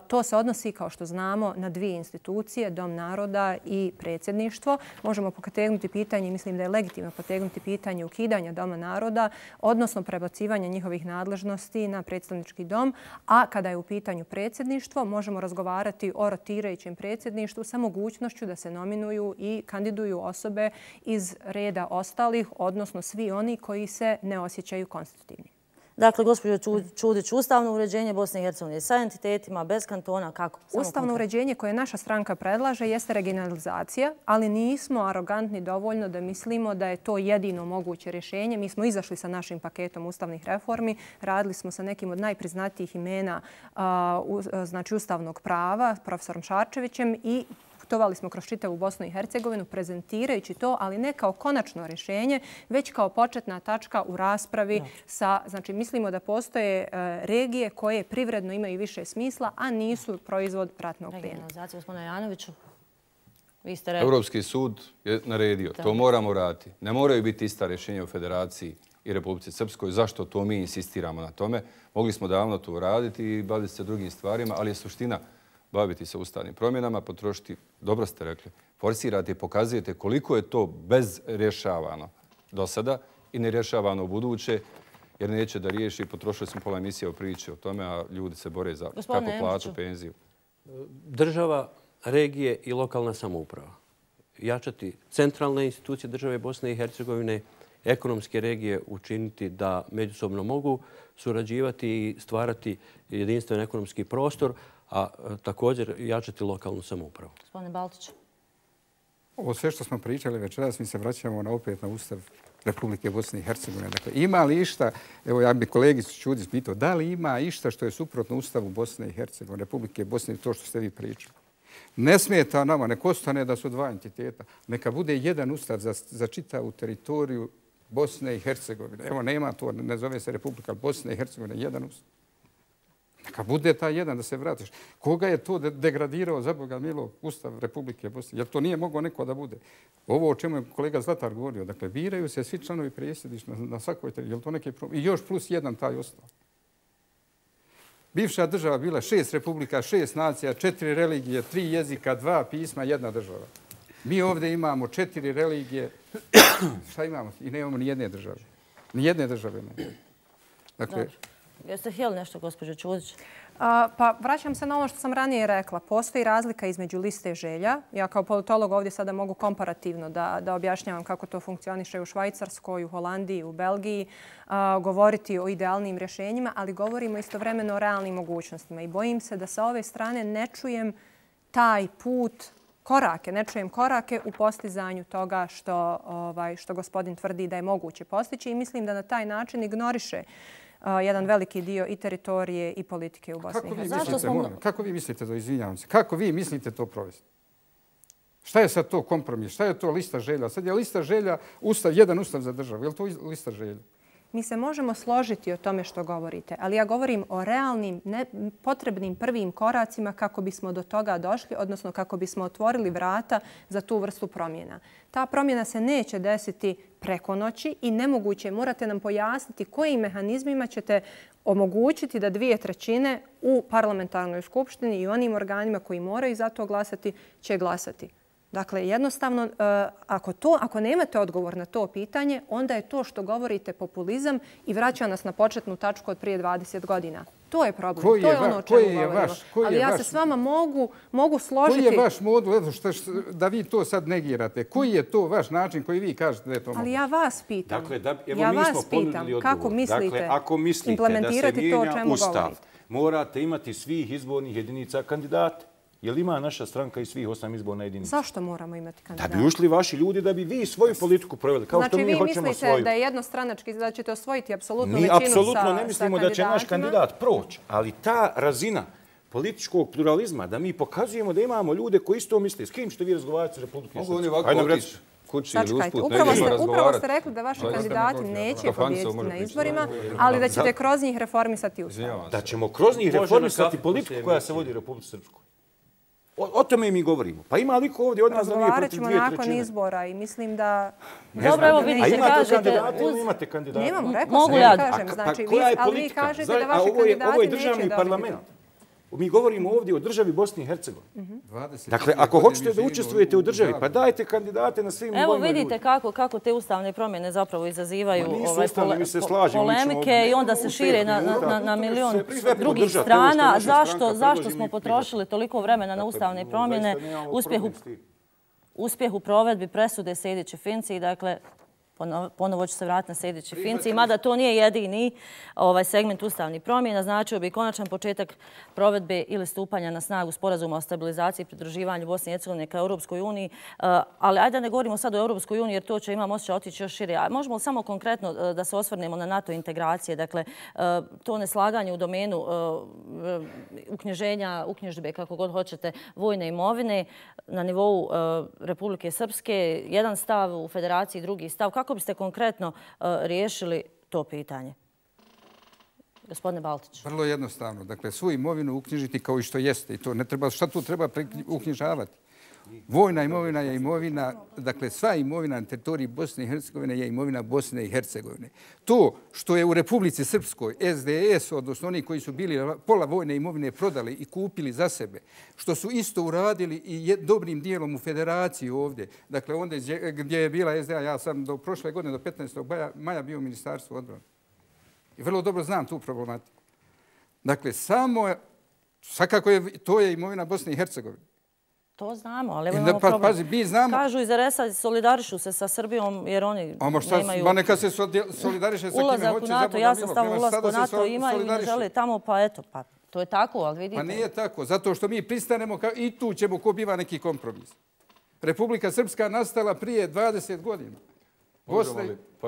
To se odnosi, kao što znamo, na 2 institucije, Dom naroda i predsjedništvo. Možemo potegnuti pitanje, mislim da je legitimno potegnuti pitanje ukidanja Doma naroda, odnosno prebacivanja njihovih nadležnosti na predstavnički dom, a kada je u pitanju predsjedništvo, možemo razgovarati o rotirajućem predsjedništvu sa mogućnošću da se nominuju i kandiduju osobe iz reda ostalih, odnosno svi oni koji se ne osjećaju konstitutivni. Dakle, gospođo Čudić, ustavno uređenje Bosne i Hercegovine sa entitetima, bez kantona, kako? Ustavno uređenje koje naša stranka predlaže jeste regionalizacija, ali nismo arogantni dovoljno da mislimo da je to jedino moguće rješenje. Mi smo izašli sa našim paketom ustavnih reformi, radili smo sa nekim od najpriznatijih imena znači ustavnog prava, profesorom Šarčevićem i putovali smo kroz čitavu Bosnu i Hercegovinu prezentirajući to, ali ne kao konačno rješenje, već kao početna tačka u raspravi sa, znači mislimo da postoje regije koje privredno imaju više smisla, a nisu proizvod ratnog plijena. Regionalizacija, gospodine Janoviću, vi ste rekli. Europski sud je naredio, to moramo raditi. Ne moraju biti ista rješenja u Federaciji i Republici Srpskoj. Zašto to mi insistiramo na tome? Mogli smo davno to uraditi i baviti se drugim stvarima, ali je suština baviti se ustavnim promjenama, potrošiti, dobro ste rekli, forsirati i pokazujete koliko je to bezrješavano do sada i nerješavano u buduće, jer neće da riješi. Potrošili smo pola emisije o priči o tome, a ljudi se bore za kako plaću, penziju. Država, regije i lokalna samouprava. Jačati centralne institucije države Bosne i Hercegovine, ekonomske regije učiniti da međusobno mogu surađivati i stvarati jedinstven ekonomski prostor, a također jačati lokalnu samoupravu. Gospodine Baltić. Ovo sve što smo pričali večeras, mi se vraćamo opet na Ustav Republike Bosne i Hercegovine. Dakle, ima li išta, evo ja bih kolegicu Čudić pitao, da li ima išta što je suprotno Ustavu Bosne i Hercegovine, Republike Bosne i to što ste vi pričali? Ne smeta nama, nek ostane da su 2 entiteta. Neka bude jedan ustav za čitavu teritoriju Bosne i Hercegovine. Evo, nema to, ne zove se Republika Bosne i Hercegovine, jedan ustav. Neka bude taj jedan da se vratiš. Koga je to degradirao, za Boga milo, Ustav Republike Bosne? Jer to nije moglo neko da bude? Ovo o čemu je kolega Zlatar govorio, dakle, biraju se svi članovi predsjedništva na svakoj teritoriji. Je li to neki problem? I još plus jedan taj ostao. Bivša država bila 6 republika, 6 nacija, 4 religije, 3 jezika, 2 pisma, 1 država. Mi ovdje imamo 4 religije. Šta imamo? I nemamo ni jedne države. Ni jedne države ne. Dakle, jeste htjeli nešto, gospođo Čudić? Pa vraćam se na ono što sam ranije rekla. Postoji razlika između liste želja. Ja kao politolog ovdje sada mogu komparativno da objašnjavam kako to funkcioniše u Švajcarskoj, u Holandiji, u Belgiji, govoriti o idealnim rješenjima, ali govorimo istovremeno o realnim mogućnostima. I bojim se da sa ove strane ne čujem taj put, korake, ne čujem korake u postizanju toga što gospodin tvrdi da je moguće postići i mislim da na taj način ignoriše jedan veliki dio i teritorije i politike u Bosni i Hercegovini. Kako vi mislite to, izvinjavam se, kako vi mislite to provesti? Šta je sad to kompromis? Šta je to lista želja? Sad je lista želja jedan ustav za državu. Je li to lista želja? Mi se možemo složiti o tome što govorite, ali ja govorim o realnim, potrebnim prvim koracima kako bismo do toga došli, odnosno kako bismo otvorili vrata za tu vrstu promjena. Ta promjena se neće desiti preko noći i nemoguće. Morate nam pojasniti kojim mehanizmima ćete omogućiti da 2/3 u parlamentarnoj skupštini i onim organima koji moraju za to glasati će glasati. Dakle, jednostavno, ako nemate odgovor na to pitanje, onda je to što govorite populizam i vraća nas na početnu tačku od prije 20 godina. To je problem. To je ono o čemu govorimo. Ali ja se s vama mogu složiti. Koji je vaš modul, da vi to sad negirate? Koji je to vaš način koji vi kažete da je to moguće? Ali ja vas pitam. Ja vas pitam kako mislite implementirati to o čemu govorite. Morate imati svih izbornih jedinica kandidata. Je li ima naša stranka i svih 8 izborna jedinica? Zašto moramo imati kandidata? Da bi ušli vaši ljudi, da bi vi svoju politiku proveli. Kao što mi hoćemo svoju. Znači vi mislite da je jednostranački, da ćete osvojiti apsolutnu većinu sa kandidatima? Mi apsolutno ne mislimo da će naš kandidat proći. Ali ta razina političkog pluralizma, da mi pokazujemo da imamo ljude koji isto misle. S kim ćete vi razgovarati u Republike Srpske? Mogu oni ovako otići kući ili usput upravo ste rekli da vaši kandidati neće pobijediti na izborima, ali da ćete kroz njih reformisati ustav. Da ćemo kroz njih reformisati politiku koja se vodi u Republike Srpskoj. O tome mi govorimo. Pa ima li ko ovdje od nas da nije protiv 2/3? Razgovarat ćemo nakon izbora i mislim da... Dobro, evo vidite, kažete... Imate kandidate? Nemamo, rekao sam da kažem. Ali vi kažete da vaši kandidati neće dobiti to. Mi govorimo ovdje o državi Bosni i Hercegovini. Dakle, ako hoćete da učestvujete u državi, pa dajte kandidate na svim nivoima ljudi. Evo vidite kako te ustavne promjene zapravo izazivaju polemike i onda se šire na milion drugih strana. Zašto smo potrošili toliko vremena na ustavne promjene, uspjeh u provedbi presude Sejdić i Finci, dakle, ponovo ću se vratiti na Sejdić i Finci, mada to nije jedini segment ustavnih promjena, značio bi konačan početak provedbe ili stupanja na snagu sporazuma o stabilizaciji i pridruživanju Bosne i Hercegovine ka Europskoj uniji. Ali ajde da ne govorimo sad o Europskoj uniji jer to će, imam osjećaj, otići još šire. A možemo samo konkretno da se osvrnemo na NATO integracije. Dakle, to neslaganje u domenu uknjižbe, kako god hoćete, vojne imovine na nivou Republike Srpske, jedan stav u federaciji, drugi stav. Kako biste konkretno riješili to pitanje? Gospodine Baltić. Vrlo jednostavno. Dakle, svu imovinu uknjižiti kao i što jeste. I to ne treba, šta tu treba uknjižavati? Vojna imovina je imovina, dakle, sva imovina na teritoriji Bosne i Hercegovine je imovina Bosne i Hercegovine. To što je u Republici Srpskoj SDS, odnosno oni koji su bili pola vojne imovine prodali i kupili za sebe, što su isto uradili i dobrim dijelom u federaciji ovdje, dakle, onda gdje je bila SDA, ja sam do prošle godine, do 15. maja bio u Ministarstvu odbrane. I vrlo dobro znam tu problematiku. Dakle, svakako to je imovina Bosne i Hercegovine. To znamo, ali imamo problem. Kažu iz RS-a solidarišu se sa Srbijom jer oni nemaju... Ma neka se solidariše sa kime hoće ulazak u NATO. Ja sam stavio ulazak u NATO, imaju i ne žele tamo, pa eto, pa to je tako, ali vidite... Pa nije tako, zato što mi pristanemo i tu ćemo ko biva neki kompromis. Republika Srpska nastala prije 20 godina.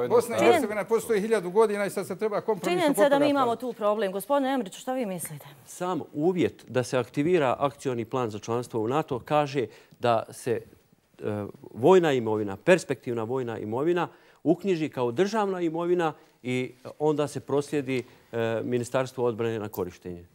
Bosna i Hercegovina postoji 1000 godina i sad se treba kompromisno popraviti. Činjenica je da mi imamo tu problem. Gospodine Emriću, šta vi mislite? Sam uvjet da se aktivira akcioni plan za članstvo u NATO kaže da se vojna imovina, perspektivna vojna imovina uknjiži kao državna imovina i onda se proslijedi Ministarstvo odbrane na korištenje.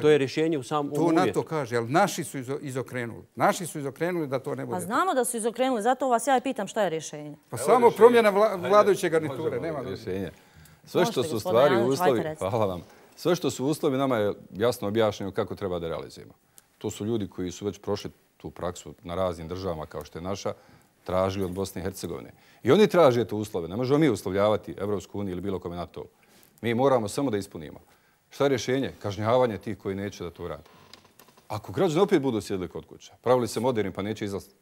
To je rješenje u samom uvjetu. To NATO kaže, ali naši su izokrenuli. Naši su izokrenuli da to ne bude. Pa znamo da su izokrenuli, zato vas ja pitam šta je rješenje. Pa samo promjena vladajuće garniture, nema rješenja. Sve što su stvari uslovi, hvala vam, sve što su uslovi nama je jasno objašnjeno kako treba da realizujemo. To su ljudi koji su već prošli tu praksu na raznim državama kao što je naša, tražili od Bosne i Hercegovine. I oni traže te uslove. Ne možemo mi uslovljavati Evropsku uniju ili bilo kome NATO. Mi moramo samo da ispunimo. Šta je rješenje? Kažnjavanje tih koji neće da to rade. Ako građani opet budu sjedili kod kuća, pravili se moderni pa neće izlaziti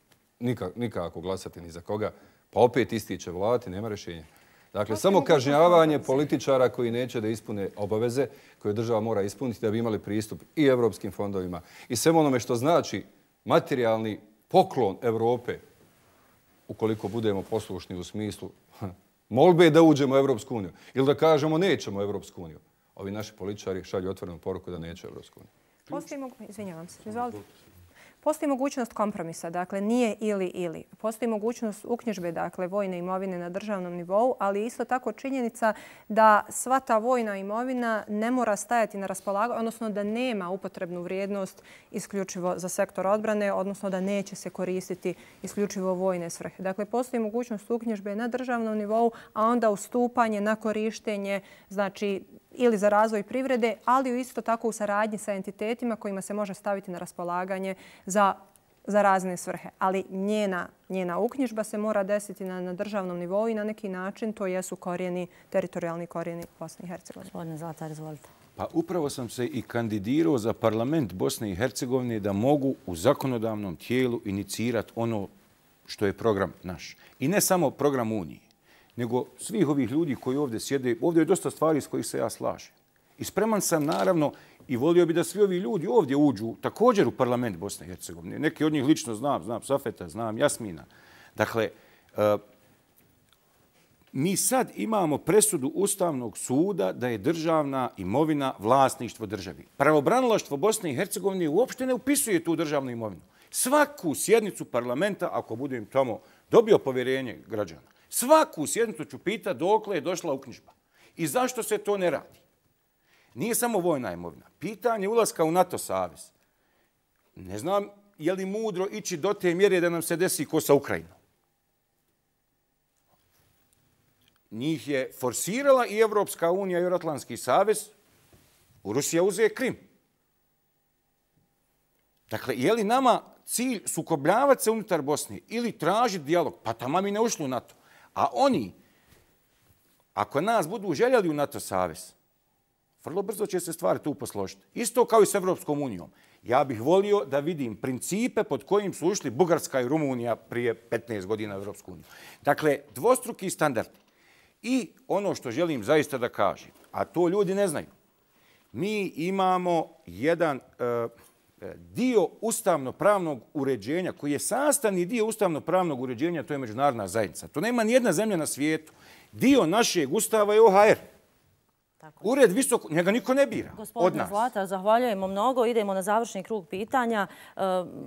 nikako glasati ni za koga, pa opet isti će vladati, nema rješenja. Dakle, samo kažnjavanje političara koji neće da ispune obaveze koje država mora ispuniti da bi imali pristup i evropskim fondovima i svemu onome što znači materijalni poklon Evrope ukoliko budemo poslušni u smislu molbe da uđemo u Evropsku uniju ili da kažemo nećemo u Evropsku uniju. Ovi naši političari šalju otvorenu poruku da neće u Evropsku uniju. Postoji mogućnost kompromisa, dakle nije ili. Postoji mogućnost uknjižbe, dakle vojne imovine na državnom nivou, ali isto tako činjenica da sva ta vojna imovina ne mora stajati na raspolaganju, odnosno da nema upotrebnu vrijednost isključivo za sektor odbrane, odnosno da neće se koristiti isključivo vojne svrhe. Dakle, postoji mogućnost uknjižbe na državnom nivou, a onda ustupanje na korištenje, znači ili za razvoj privrede, ali isto tako u saradnji sa entitetima kojima se može staviti na raspolaganje za razne svrhe. Ali njena uknjižba se mora desiti na državnom nivou i na neki način to jesu teritorijalni korijeni Bosne i Hercegovine. Gospodine Zlatar, izvolite. Pa upravo sam se i kandidirao za parlament Bosne i Hercegovine da mogu u zakonodavnom tijelu inicirati ono što je program naš. I ne samo program Unije, nego svih ovih ljudi koji ovdje sjede. Ovdje je dosta stvari s kojih se ja slažem. I spreman sam naravno i volio bi da svi ovi ljudi ovdje uđu također u parlament Bosne i Hercegovine. Neki od njih lično znam Safeta, znam Jasmina. Dakle, mi sad imamo presudu Ustavnog suda da je državna imovina vlasništvo državi. Pravobranilaštvo Bosne i Hercegovine uopšte ne upisuje tu državnu imovinu. Svaku sjednicu parlamenta, ako budem tamo dobio povjerenje građana, svaku sjednicu ću pitati dokle je došla uknjižba i zašto se to ne radi. Nije samo vojna imovina. Pitanje ulaska u NATO savez. Ne znam je li mudro ići do te mjere da nam se desi ko sa Ukrajinom. Njih je forsirala i Evropska unija i Euroatlantski savez. Rusija uzeo Krim. Dakle, je li nama cilj sukobljavati se unutar Bosne ili tražiti dijalog? Pa tamo mi ne ušli u NATO. A oni, ako nas budu željeli u NATO savez, vrlo brzo će se stvari tu posložiti. Isto kao i s Evropskom unijom. Ja bih volio da vidim principe pod kojim su ušli Bugarska i Rumunija prije 15 godina u Evropsku uniju. Dakle, dvostruki standardi. I ono što želim zaista da kažem, a to ljudi ne znaju, mi imamo jedan dio ustavno-pravnog uređenja koji je sastavni dio ustavno-pravnog uređenja, to je međunarodna zajednica. To nema nijedna zemlja na svijetu. Dio našeg ustava je OHR. Ured visoko, njega niko ne bira od nas. Gospodine Zlatar, zahvaljujemo mnogo. Idemo na završni krug pitanja.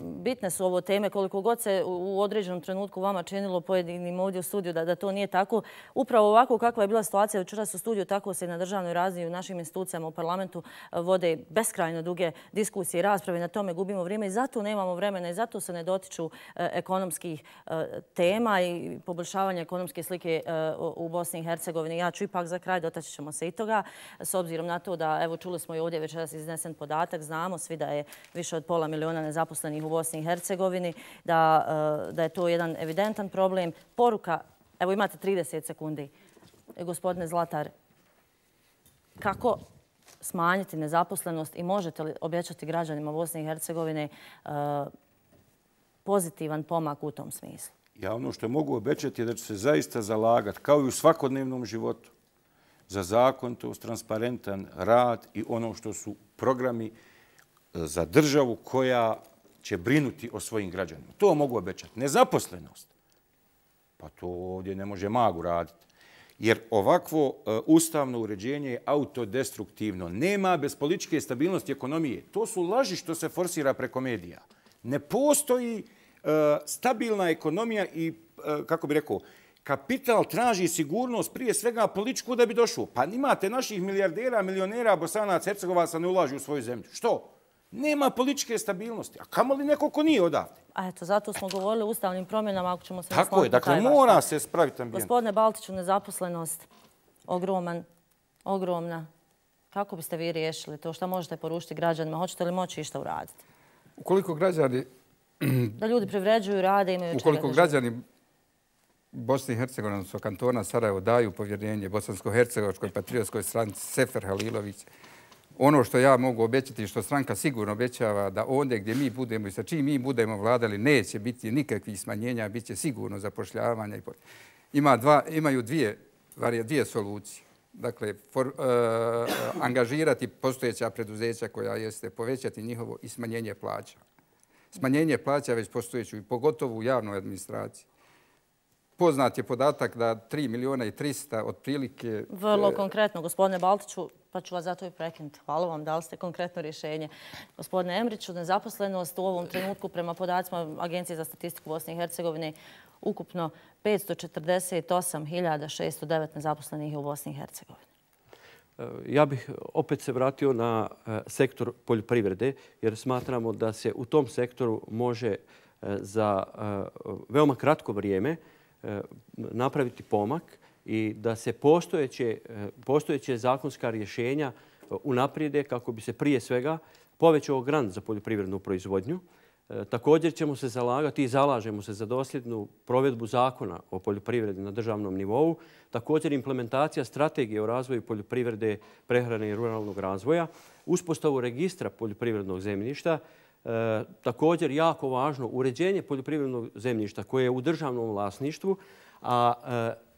Bitne su ovo teme, koliko god se u određenom trenutku vama činilo pojedinim ovdje u studiju da to nije tako. Upravo ovako kakva je bila situacija večeras u studiju, tako se i na državnoj razini u našim institucijama u parlamentu vode beskrajno duge diskusije i rasprave. Na tome gubimo vrijeme i zato nemamo vremena i zato se ne dotiču ekonomskih tema i poboljšavanja ekonomske slike u Bosni i Hercegovini. Ja ću ipak za kraj, dotaći ćemo se i toga. S obzirom na to da, evo, čuli smo i ovdje večeras iznesen podatak, znamo svi da je više od 500 miliona nezaposlenih u Bosni i Hercegovini, da je to jedan evidentan problem. Poruka, evo imate 30 sekundi. Gospodine Zlatar, kako smanjiti nezaposlenost i možete li obećati građanima Bosne i Hercegovine pozitivan pomak u tom smislu? Ja ono što mogu obećati je da ću se zaista zalagati, kao i u svakodnevnom životu, za zakonitost, transparentan rad i ono što su programi za državu koja će brinuti o svojim građanima. To mogu obećati. Nezaposlenost. Pa to ovdje ne može magu raditi. Jer ovakvo ustavno uređenje je autodestruktivno. Nema bez političke stabilnosti ekonomije. To su laži što se forsira preko medija. Ne postoji stabilna ekonomija i, kako bi rekao, kapital traži sigurnost prije svega političku da bi došao. Pa imate naših milijardera, milionera, Bosanaca, Hercegovaca ne ulažu u svoju zemlju. Što? Nema političke stabilnosti. A kamo li neko ko nije odavde? A eto, zato smo govorili o ustavnim promjenama, ako ćemo se nasloniti. Tako je, dakle mora se spraviti ambijent. Gospodine Baltiću, nezaposlenost ogromna. Kako biste vi riješili to? Šta možete poručiti građanima? Hoćete li moći išta uraditi? Ukoliko građani... Da ljudi privređuju, rade, imaju čega da žive. Ukoliko građani Bosne i Hercegovine, odnosno kantona Sarajevo, daju povjerenje Bosansko-Hercegovačkoj patriotskoj stranci Sefer Halilović, ono što ja mogu obećati i što stranka sigurno obećava da ondje gdje mi budemo i sa čim mi budemo vladali neće biti nikakvih smanjenja, bit će sigurno zapošljavanja. Imaju dvije solucije. Dakle, angažirati postojeća preduzeća koja jeste povećati njihovo i smanjenje plaća. Smanjenje plaća već postojeću i pogotovo u javnoj administraciji. Poznat je podatak da 3.300.000 otprilike... Vrlo konkretno, gospodine Baltiću, pa ću vas zato i prekinuti. Hvala vam, dali ste konkretno rješenje. Gospodine Emriću, nezaposlenost u ovom trenutku prema podacima Agencije za statistiku Bosne i Hercegovine ukupno 548.609 nezaposlenih u Bosni i Hercegovini. Ja bih opet se vratio na sektor poljoprivrede, jer smatramo da se u tom sektoru može za veoma kratko vrijeme napraviti pomak i da se postojeće zakonska rješenja unaprijede kako bi se prije svega povećao grant za poljoprivrednu proizvodnju. Također ćemo se zalagati i zalažemo se za dosljednu provedbu zakona o poljoprivredi na državnom nivou. Također implementacija strategije o razvoju poljoprivrede, prehrane i ruralnog razvoja, uspostavu registra poljoprivrednog zemljišta, također jako važno uređenje poljoprivrednog zemljišta koje je u državnom vlasništvu, a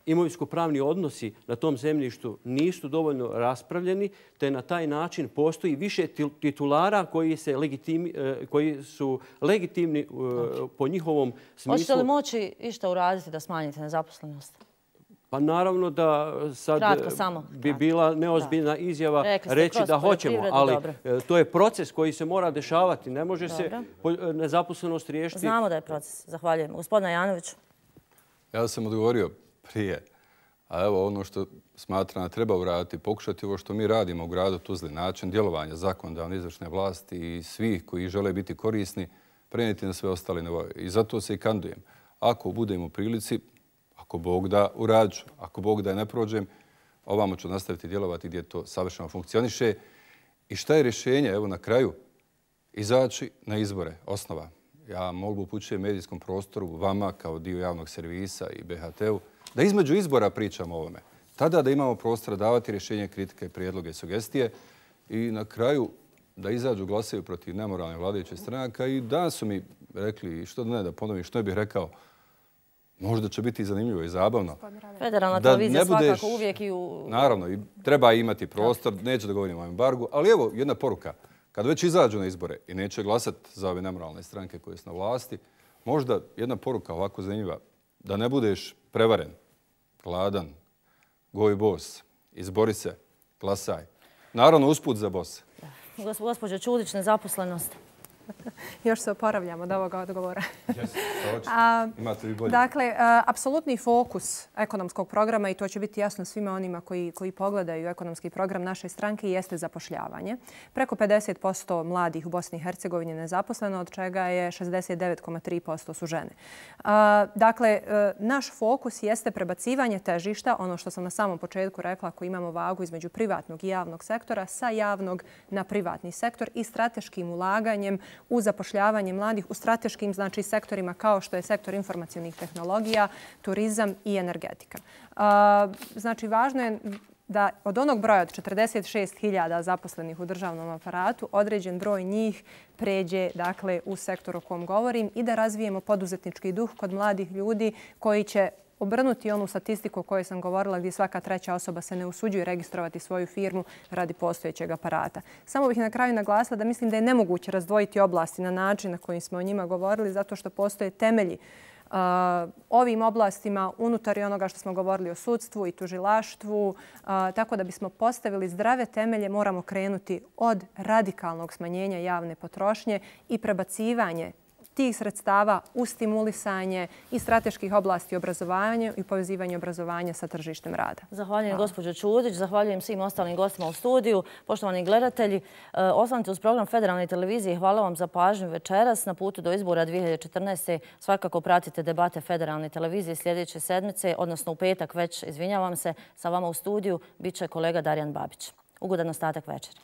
imovinsko-pravni odnosi na tom zemljištu nisu dovoljno raspravljeni, te na taj način postoji više titulara koji su legitimni po njihovom smislu. Hoćete li moći išta uraditi da smanjite nezaposlenost? Pa naravno da sad bi bila neozbiljna izjava reći da hoćemo, ali to je proces koji se mora dešavati. Ne može se nezaposlenost riješiti. Znamo da je proces. Zahvaljujem. Gospodine Janoviću. Ja sam odgovorio prije, a evo ono što smatram da treba uraditi, pokušati ovo što mi radimo u gradu Tuzli, način djelovanja zakonodavne izvršne vlasti i svih koji žele biti korisni, prenijeti na sve ostale nivoje. I zato se i kandidujem. Ako budem u prilici, ako Bog da, urađu. Ako Bog da ne prođem, ovamo ću nastaviti djelovati gdje to savršeno funkcioniše. I šta je rješenje? Evo na kraju, izaći na izbore, osnova. Ja molbu upućujem medijskom prostoru, vama kao dio javnog servisa i BHT-u, da između izbora pričamo o ovome. Tada da imamo prostora davati rješenje, kritike, prijedloge i sugestije i na kraju da izađu glasaju protiv nemoralne vladajuće stranaka. I danas su mi rekli, što da ne da ponovim, što bih rekao, možda će biti zanimljivo i zabavno. Federalna televizija svakako uvijek i u... Naravno, i treba imati prostor, neću da govorim o embargu, ali evo jedna poruka. Kad već izađu na izbore i neće glasati za ove nemoralne stranke koje su na vlasti, možda jedna poruka ovako zanimljiva, da ne budeš prevaren, gladan, goj bos, izbori se, glasaj. Naravno, usput za bos. Gospođo Čudić, nezaposlenost. Još se oporavljamo od ovoga odgovora. Imate vi bolje. Dakle, apsolutni fokus ekonomskog programa, i to će biti jasno svima onima koji pogledaju ekonomski program naše stranke, jeste zapošljavanje. Preko 50% mladih u Bosni i Hercegovini je nezaposleno, od čega je 69,3% su žene. Dakle, naš fokus jeste prebacivanje težišta, ono što sam na samom početku rekla, ako imamo vagu između privatnog i javnog sektora, sa javnog na privatni sektor i strateškim ulaganjem u zapošljavanje mladih u strateškim sektorima kao što je sektor informacionih tehnologija, turizam i energetika. Znači, važno je da od onog broja od 46.000 zaposlenih u državnom aparatu određen broj njih pređe u sektor o kom govorim i da razvijemo poduzetnički duh kod mladih ljudi koji će obrnuti onu statistiku o kojoj sam govorila gdje svaka treća osoba se ne usuđuje registrovati svoju firmu radi postojećeg aparata. Samo bih na kraju naglasila da mislim da je nemoguće razdvojiti oblasti na način na koji smo o njima govorili zato što postoje temelji ovim oblastima unutar i onoga što smo govorili o sudstvu i tužilaštvu. Tako da bismo postavili zdrave temelje moramo krenuti od radikalnog smanjenja javne potrošnje i prebacivanje tih sredstava u stimulisanje i strateških oblasti obrazovanja i povezivanje obrazovanja sa tržištem rada. Zahvaljujem gospođo Čudić, zahvaljujem svim ostalim gostima u studiju. Poštovani gledatelji, ostanite uz program Federalne televizije. Hvala vam za pažnju večeras. Na putu do izbora 2014. svakako pratite debate Federalne televizije sljedeće sedmice, odnosno u petak već, izvinjavam se, sa vama u studiju bit će kolega Darjan Babić. Ugodan ostatak večeri.